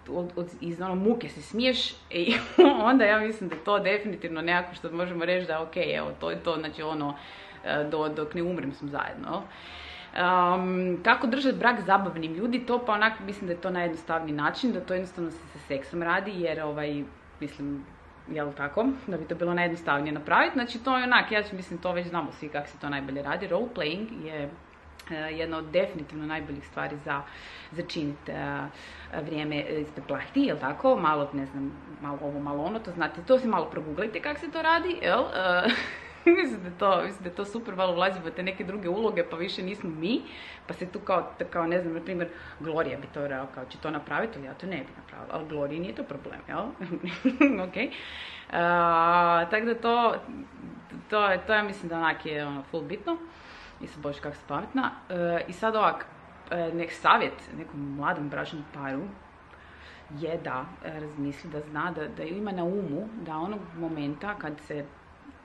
od, od, iz ono muke se smiješ, e, onda ja mislim da to definitivno nekako što možemo reći da ok, evo to je to, znači ono, do, dok ne umrem smo zajedno. Um, kako držati brak zabavnim ljudi, to pa onako mislim da je to najjednostavniji način, da to jednostavno se sa seksom radi, jer ovaj, mislim, jel tako, da bi to bilo najjednostavnije napraviti. Znači to je onak, ja mislim to već znamo svi kako se to najbolje radi. Role playing je uh, jedna od definitivno najboljih stvari za začiniti uh, vrijeme ispred plahti, jel tako, malo, ne znam, malo ovo, malo ono, to znate, to si malo proguglajte kako se to radi, jel? Uh, mislim, da to, mislim da je to super, malo ulazimo te neke druge uloge, pa više nismo mi, pa se tu kao, kao ne znam, na primjer, Gloria bi to rekao, kao će to napraviti, ali ja to ne bi napravila, ali Gloria nije to problem, jel? Ok. Uh, tako da to, to, to ja mislim da onak je ono, full bitno, i sad bože kako se pametna. Uh, I sad ovak, nek savjet nekom mladom bračnom paru je da razmisli, da zna, da, da ima na umu da onog momenta kad se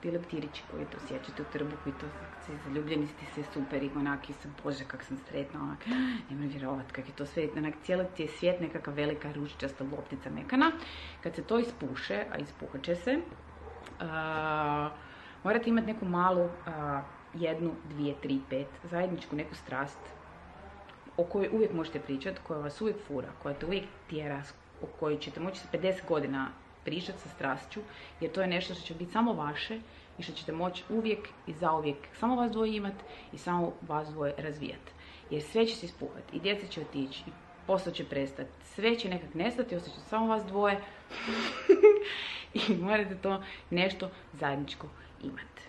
ti leptirići koji to sjećate u trbuhu i to se zaljubljeni ti se super i onaki se, bože kak sam sretna, onak, nemoj vjerovat kak je to sve, onak, cijeli ti je svijet nekakva velika ružičasta loptica mekana. Kad se to ispuše, a ispuhat će se, uh, morate imati neku malu, uh, jednu, dvije, tri, pet, zajedničku neku strast o kojoj uvijek možete pričati, koja vas uvijek fura, koja te uvijek tjera, o kojoj ćete moći sa pedeset godina pričati sa strašću, jer to je nešto što će biti samo vaše i što ćete moći uvijek i zauvijek samo vas dvoje imati i samo vas dvoje razvijati. Jer sve će se ispuhati i djeca će otići i posao će prestati, sve će nekak nestati, osjećate samo vas dvoje i morate to nešto zajedničko imati.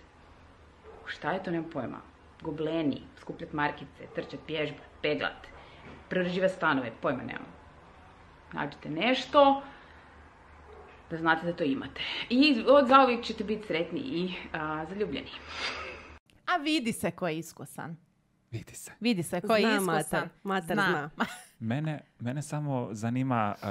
Šta je to, nemam pojma? Gobleni, skupljat markice, trčat, pježbat, peglat, preuređivat stanove, pojma nemam. Nađite nešto da znate da to imate. I od zauvijek ćete biti sretni i a, zaljubljeni. A vidi se ko je iskusan. Vidi se. Vidi se ko je Zna iskusan. mater, mater zna. Mene, mene samo zanima uh,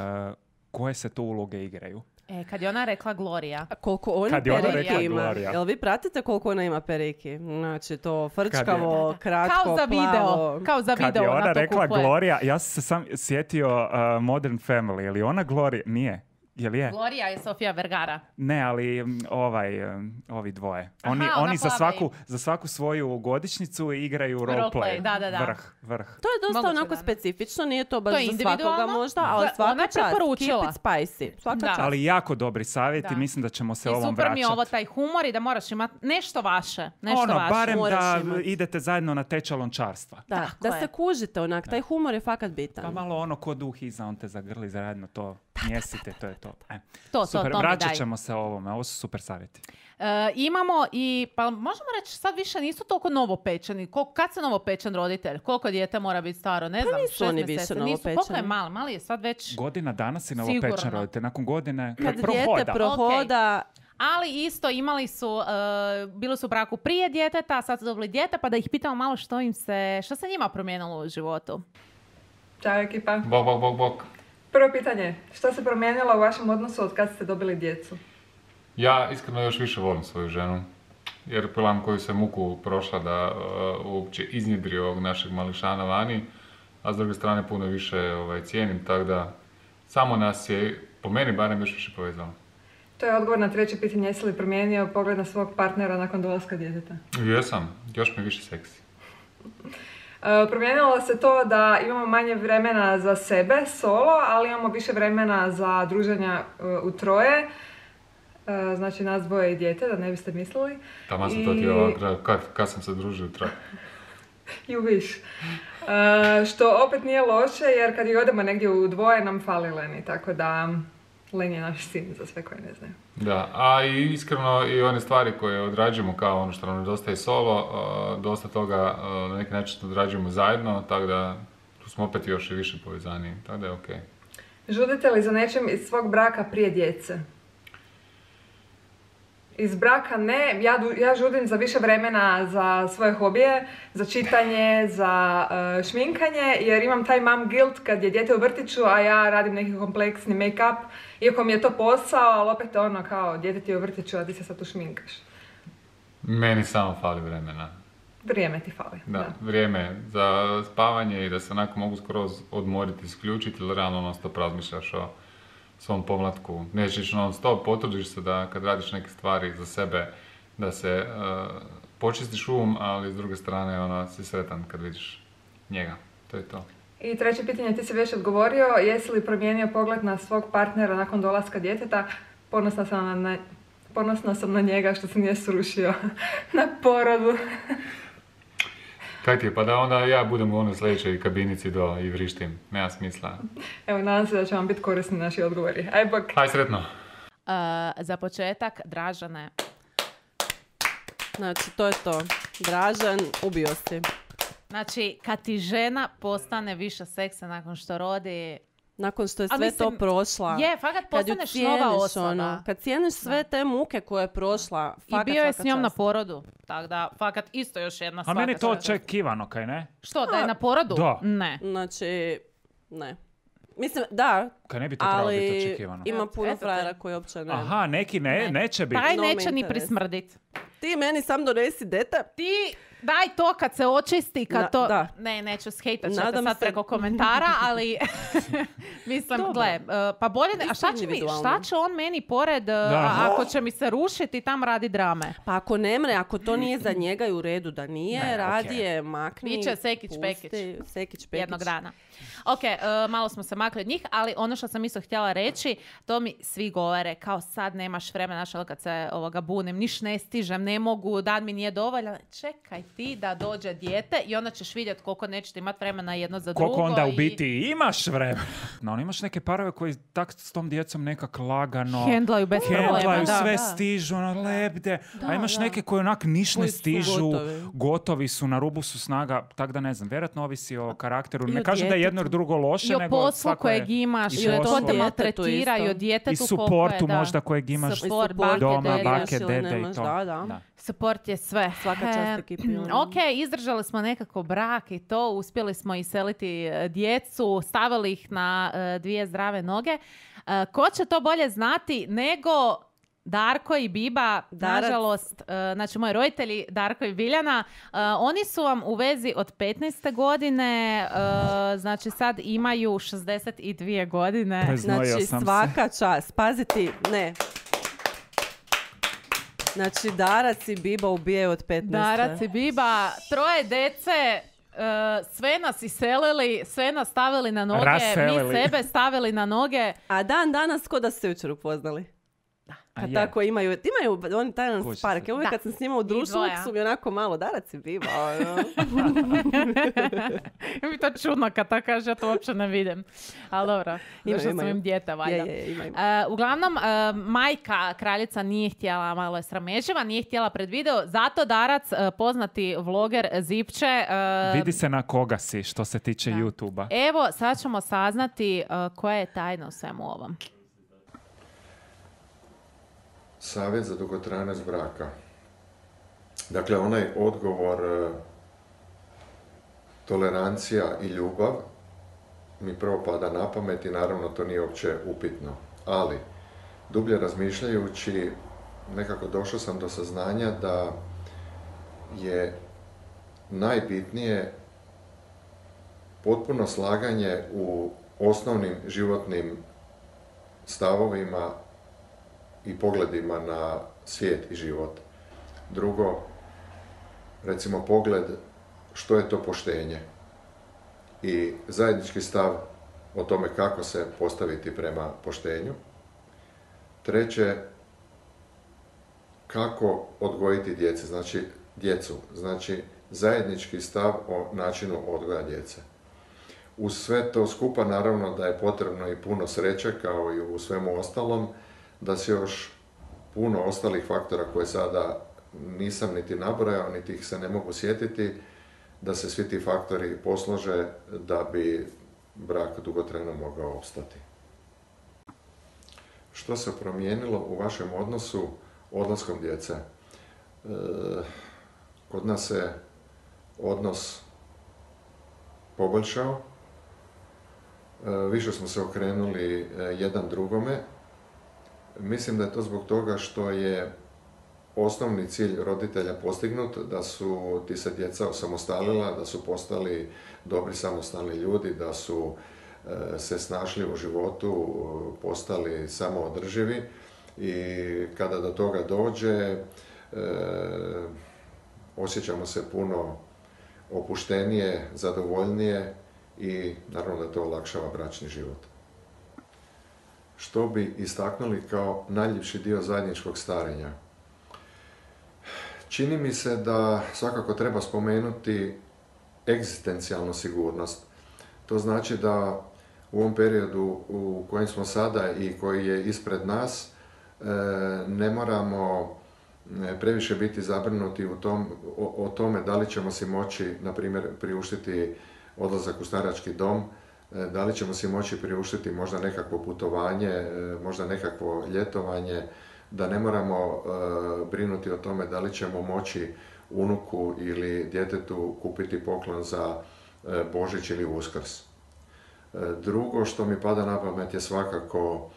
koje se to uloge igraju. E, kad je ona rekla Gloria. A koliko ona Kad je ona periki rekla ima? Gloria. Jel vi pratite koliko ona ima periki? Znači to frčkavo, Da, da. kratko, Kao za video. plavo. Kao za Kad video je ona ona to rekla kupuje. Gloria, ja sam se sam sjetio uh, Modern Family. Je li ona Gloria? Nije. Je li je? Gloria je Sofia Vergara. Ne, ali mm, ovaj, um, ovi dvoje. Aha, Oni, ona oni za, plava svaku, za svaku svoju godišnjicu igraju roleplay. Roleplay, da, da, da. Vrh, vrh. To je dosta Moguće onako da. specifično, nije to baš To je za svakoga individualno. možda, ali Da, svaka ona je čast. preporučila. Keep it spicy. Svaka Da. čast. Ali jako dobri savjeti, Da. mislim da ćemo se I ovom super mi je vraćati. ovo taj humor i da moraš imati nešto vaše. Nešto Ono, vaše. barem Moraš da imat. idete zajedno na tečaj lončarstva. Da, Tako da je. se kužite onak, taj humor je fakat bitan. Pa malo ono ko duh iza, on te zagrli zajedno, to mjesite, to je to. E. To, to, Super, to mi vraćat daj. ćemo se ovome, ovo su super savjeti. E, imamo i, pa možemo reći, sad više nisu toliko novopečeni. Kol, kad se novopečen roditelj? Koliko dijete mora biti staro? Ne znam, nisu šest oni mjeseci. više Nisu, koliko je novopečeni. mali? Mali je sad već... Godina dana si novopečen Sigurno. roditelj, nakon godine Kad kad dijete prohoda. prohoda, Ali isto imali su, e, bili su u braku prije djeteta, sad su dobili dijete, pa da ih pitamo malo što im se, što se njima promijenilo u životu. Ćao ekipa. Bok, bok, bok, bok. Prvo pitanje, što se promijenilo u vašem odnosu od kad ste dobili djecu? Ja iskreno još više volim svoju ženu. Jer pilam koju se muku prošla da uh, uopće iznjedri ovog našeg mališana vani. A s druge strane puno više ovaj, cijenim, tako da samo nas je, po meni barem, još više povezalo. To je odgovor na treće pitanje, jesi li promijenio pogled na svog partnera nakon dolaska djeteta? Jesam, još mi više seksi. E, promijenilo se to da imamo manje vremena za sebe, solo, ali imamo više vremena za druženja e, u troje. E, znači nas dvoje i dijete, da ne biste mislili. Tamo sam I- to htjela, kad, kad sam se družio u traju. You wish. E, što opet nije loše, jer kad i odemo negdje u dvoje nam fali Leni, tako da Len je naš sin za sve koji ne znaju. Da, a i iskreno i one stvari koje odrađujemo kao ono što nam nedostaje solo, uh, dosta toga uh, na neki način odrađujemo zajedno, tako da tu smo opet još i više povezani, tako da je okej. Žudite li za nečim iz svog braka prije djece? Iz braka ne, ja, du- ja žudim za više vremena za svoje hobije, za čitanje, za uh, šminkanje, jer imam taj mom guilt kad je dijete u vrtiću, a ja radim neki kompleksni make-up, iako mi je to posao, ali opet ono kao, dijete ti je u vrtiću, a ti se sad tu šminkaš. Meni samo fali vremena. Vrijeme ti fali. Da, vrijeme za spavanje i da se onako mogu skroz odmoriti, isključiti, ili realno non stop razmišljaš o svom pomlatku. Nećeš non stop, potrudiš se da kad radiš neke stvari za sebe, da se uh, počistiš um, ali s druge strane ono, si sretan kad vidiš njega. To je to. I treće pitanje, ti si već odgovorio, jesi li promijenio pogled na svog partnera nakon dolaska djeteta? Ponosna sam na, na, ponosna sam na njega što se nije srušio na porodu. Kaj ti je, pa da onda ja budem u onoj sljedećoj kabinici do i vrištim. Nema smisla. Evo, nadam se da će vam biti korisni naši odgovori. Aj bok! Aj, sretno! Uh, za početak, Dražane. znači to je to. Dražan, ubio si. Znači, kad ti žena postane više seksa nakon što rodi, nakon što je A sve mislim, to prošla. Je, fakat kad ju postaneš cijeniš, nova osoba. ono, kad cijeniš sve te muke koje je prošla, I fakat bio je s svaka njom na čast. porodu. Tako da, fakat isto još jedna A svaka meni je to čast. očekivano, kaj ne? Što, da je na porodu? Da. Ne. Znači, ne. Mislim, da, Kaj ne bi to trebalo biti ali očekivano? ima puno Eto te. frajera koji uopće ne. Aha, neki ne, Ne. neće biti. Taj No me neće ni interes. prismrdit. Ti meni sam donesi dete. Ti daj to kad se očisti, kad Na- to... da. Ne, neću skejtat ćete Nadam sad se- preko komentara, ali mislim, Dobro. gle, uh, pa bolje ne... A Isto šta će, mi, individualno. šta će on meni pored, uh, Da. a- ako će mi se rušiti tam radi drame? Pa ako ne mre, ako to nije za njega i u redu da nije, Ne, radije makni. Biće sekić, pusti, pekić. Sekić, pekić. Jednog dana. Ok, uh, malo smo se makli od njih, ali ono što sam isto htjela reći, to mi svi govore, kao sad nemaš vremena, znaš, ono kad se ovoga bunim, niš ne stižem, ne mogu, dan mi nije dovoljan. Čekaj ti da dođe dijete i onda ćeš vidjeti koliko nećete imati vremena jedno za drugo. Koliko onda u i biti imaš vremena. No, imaš neke parove koji tak s tom djecom nekak lagano Hendlaju bez problema. hendlaju, Da, sve da. stižu, ono, lebde. A imaš da. neke koji onak niš ne Koji su stižu, gotovi. gotovi su, na rubu su snaga, tak da ne znam, vjerojatno ovisi o karakteru. I Ne o kažem da je jedno ili djetetu. drugo loše, I o nego poslu svako je... kojeg imaš, i i o poslu. ko te Djetetu maltretira, isto. i o I djetetu koliko supportu je, da. možda kojeg imaš. Support, I bake, doma, dede. bake, ili dede i nemaš, to. da, da. Da. Support je sve. Svaka čast E, ekipi, ono. ok, izdržali smo nekako brak i to, uspjeli smo iseliti e, djecu, stavili ih na e, dvije zdrave noge. E, ko će to bolje znati nego Darko i Biba, Darac. nažalost, e, znači moji roditelji, Darko i Biljana, e, oni su vam u vezi od petnaeste godine, e, znači sad imaju šezdeset dvije godine. Preznojio Znači, sam se. svaka čast. Paziti, ne. Znači, Darac i Biba ubijaju od petnaeste. Darac i Biba, troje dece, e, sve nas iselili, sve nas stavili na noge, Raselili. mi sebe stavili na noge. A dan danas ko da su se jučer upoznali. A Kad je. tako imaju, imaju oni taj jedan Kući spark. se. Ja uvijek Da. kad sam s njima u društvu, dvoja. uvijek su mi onako malo Darac i Biba. Ono. Mi to čudno kad to kaže, ja to uopće ne vidim. Ali dobro, Imaju, zašto sam imaju. im dijete, valjda. Je, je, je, imaju. E, uglavnom, e, majka kraljica nije htjela, malo je srameživa, nije htjela pred video, zato Darac, e, poznati vloger Zipče, e, Vidi se na koga si što se tiče Da. YouTube-a. evo, sad ćemo saznati e, koja je tajna u svemu ovom. Savjet za dugotrajnost braka. Dakle, onaj odgovor e, tolerancija i ljubav mi prvo pada na pamet i naravno to nije uopće upitno. Ali, dublje razmišljajući, nekako došao sam do saznanja da je najbitnije potpuno slaganje u osnovnim životnim stavovima i pogledima na svijet i život. Drugo, recimo pogled što je to poštenje i zajednički stav o tome kako se postaviti prema poštenju. Treće, kako odgojiti djece, znači djecu, znači zajednički stav o načinu odgoja djece. Uz sve to skupa naravno da je potrebno i puno sreće kao i u svemu ostalom, da se još puno ostalih faktora koje sada nisam niti nabrojao, niti ih se ne mogu sjetiti, da se svi ti faktori poslože da bi brak dugotrajno mogao opstati. Što se promijenilo u vašem odnosu odlaskom djece? E, kod nas se odnos poboljšao, e, više smo se okrenuli e, jedan drugome. Mislim da je to zbog toga što je osnovni cilj roditelja postignut, da su ti se djeca osamostalila, da su postali dobri samostalni ljudi, da su e, se snašli u životu, postali samoodrživi i kada do toga dođe e, osjećamo se puno opuštenije, zadovoljnije i naravno da to olakšava bračni život. Što bi istaknuli kao najljepši dio zajedničkog starenja? Čini mi se da svakako treba spomenuti egzistencijalnu sigurnost. To znači da u ovom periodu u kojem smo sada i koji je ispred nas, ne moramo previše biti zabrinuti u tom, o, o tome da li ćemo si moći, na primjer, priuštiti odlazak u starački dom, da li ćemo si moći priuštiti možda nekakvo putovanje, možda nekakvo ljetovanje, da ne moramo brinuti o tome da li ćemo moći unuku ili djetetu kupiti poklon za Božić ili Uskrs. Drugo što mi pada na pamet je svakako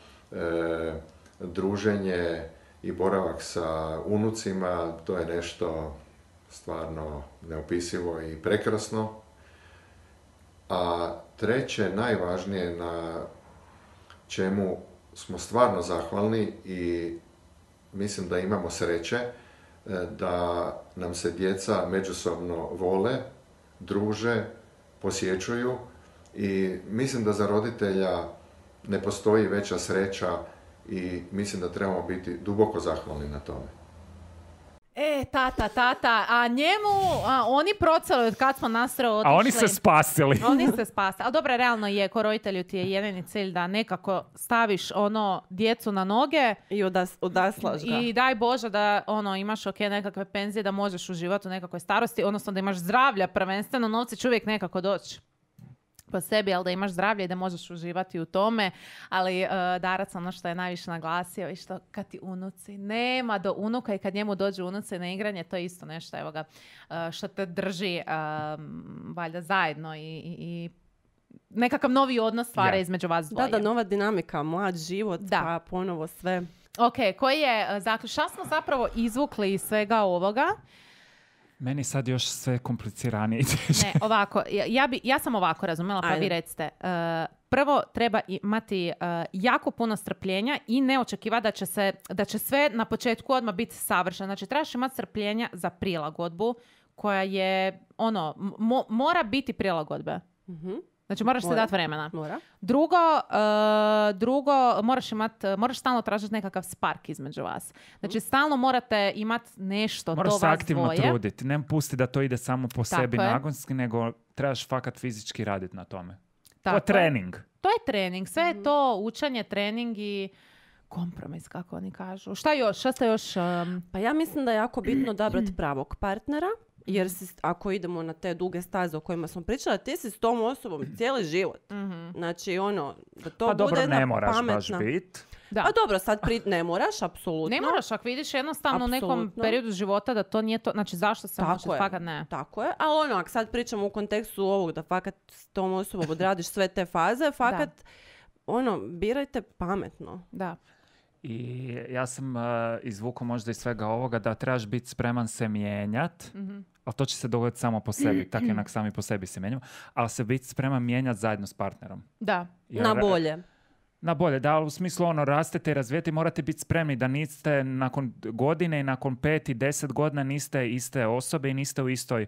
druženje i boravak sa unucima, to je nešto stvarno neopisivo i prekrasno. A treće, najvažnije, na čemu smo stvarno zahvalni i mislim da imamo sreće, da nam se djeca međusobno vole, druže, posjećuju i mislim da za roditelja ne postoji veća sreća i mislim da trebamo biti duboko zahvalni na tome. E, tata, tata, a njemu, a, oni proceli od kad smo nastro otišli. A oni se spasili. Oni se spasili. Ali dobro, realno je, ko roditelju ti je jedini cilj da nekako staviš ono djecu na noge. I odas, odaslaš ga. I daj Bože da ono, imaš ok nekakve penzije, da možeš uživati u nekakvoj starosti, odnosno da imaš zdravlja prvenstveno, novci će uvijek nekako doći po sebi, ali da imaš zdravlje i da možeš uživati u tome. Ali uh, Darac, ono što je najviše naglasio i što kad ti unuci, nema do unuka i kad njemu dođu unuci na igranje, to je isto nešto, evo ga, uh, što te drži um, valjda zajedno i, i, i nekakav novi odnos stvara Ja. između vas dvoje. Da, da, nova dinamika, mlad život, Da. pa ponovo sve. Ok, koji je uh, zaključ? Šta smo zapravo izvukli iz svega ovoga? Meni sad još sve kompliciranije. Ne, ovako, ja, ja, bi, ja sam ovako razumjela, pa Ajde. vi recite. Uh, prvo, treba imati uh, jako puno strpljenja i ne očekivati da će, se, da će sve na početku odmah biti savršeno. Znači, trebaš imati strpljenja za prilagodbu koja je, ono, mo, mora biti prilagodbe. Mhm. Znači, moraš se Mora. dati vremena. Mora. Drugo, uh, drugo moraš imat, moraš stalno tražiti nekakav spark između vas. Znači, stalno morate imati nešto do Moraš vas se aktivno dvoje. truditi. Ne pusti da to ide samo po Tako sebi je. nagonski, nego trebaš fakat fizički raditi na tome. To Tako je trening. To je trening. Sve je to učenje, trening i kompromis, kako oni kažu. Šta još? Šta ste još... Um... Pa ja mislim da je jako bitno odabrati pravog partnera, jer si, ako idemo na te duge staze o kojima smo pričali, ti si s tom osobom cijeli život. Mhm. Znači, ono, da to Pa bude dobro, jedna ne moraš pametna... baš biti. Da. Pa dobro, sad pri... ne moraš, apsolutno. Ne moraš, ako vidiš jednostavno u nekom Apsolutno. periodu života da to nije to... Znači, zašto se može? Tako je. Fakat ne. Tako je, ali ono, ako sad pričamo u kontekstu ovog da fakat s tom osobom odradiš sve te faze, fakat, ono, birajte pametno. Da. I ja sam uh, izvukao možda iz svega ovoga da trebaš biti spreman se mijenjat, Mhm. ali to će se dogoditi samo po sebi, tako jednak sami po sebi se mijenjamo, ali se biti spreman mijenjati zajedno s partnerom. Da. Jer- Na bolje. Na bolje, da, ali u smislu ono, rastete i razvijete, morate biti spremni da niste nakon godine i nakon pet i deset godina niste iste osobe i niste u istoj,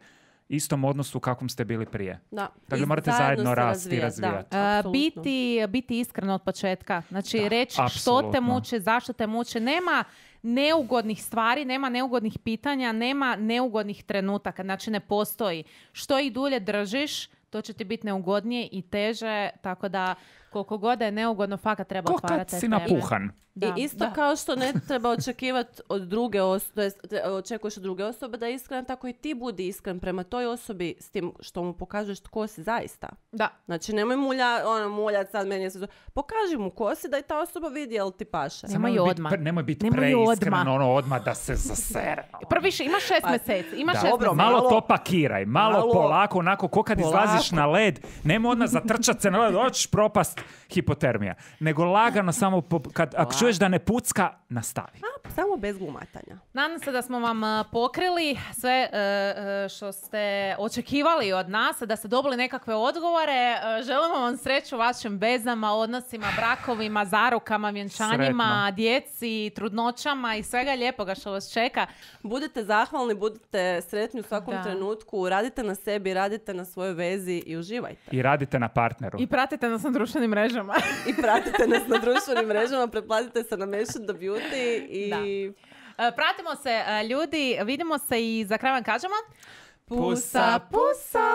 istom odnosu u kakvom ste bili prije. Da. Dakle, I morate zajedno se rasti i razvijat, da, razvijati. Uh, apsolutno. biti, biti iskreno od početka. Znači, Da, reći što te apsolutno. muči, zašto te muči. Nema neugodnih stvari, nema neugodnih pitanja, nema neugodnih trenutaka. Znači, ne postoji. Što ih dulje držiš, to će ti biti neugodnije i teže, tako da koliko god da je neugodno, fakat treba Ko otvarati kad te si teme. napuhan. Da, I isto da. kao što ne treba očekivati od druge osobe, očekuješ od druge osobe da je iskren, tako i ti budi iskren prema toj osobi s tim što mu pokažeš tko si zaista. Da. Znači, nemoj mulja, ono, muljat sad meni je sve to. Pokaži mu ko si da i ta osoba vidi jel ti paše. Samo Nemoj biti odmah. pre- nemoj biti Nemoj preiskren, odmah. ono odmah da se zasere. Prvo više, imaš šest Pa, mjeseci. Imaš Da, šest dobro, mjeseci. malo, malo- to pakiraj, malo, malo- polako, onako, ko kad polako. izlaziš na led, nema odmah zatrčat se na led, hoćeš propast hipotermija. Nego lagano samo, po- kad, ako čuješ da ne pucka, nastavi. A, samo bez glumatanja. Nadam se da smo vam uh, pokrili sve uh, uh, što ste očekivali od nas, da ste dobili nekakve odgovore. Uh, želimo vam sreću u vašim vezama, odnosima, brakovima, zarukama, vjenčanjima, Sretno. djeci, trudnoćama i svega lijepoga što vas čeka. Budite zahvalni, budite sretni u svakom Da. trenutku, radite na sebi, radite na svojoj vezi i uživajte. I radite na partneru. I pratite nas na društvenim mrežama. I pratite nas na društvenim mrežama, pretplatite se na Mention the Beauty i... Da. Uh, pratimo se, uh, ljudi. Vidimo se i za kraj vam kažemo... Pusa, pusa!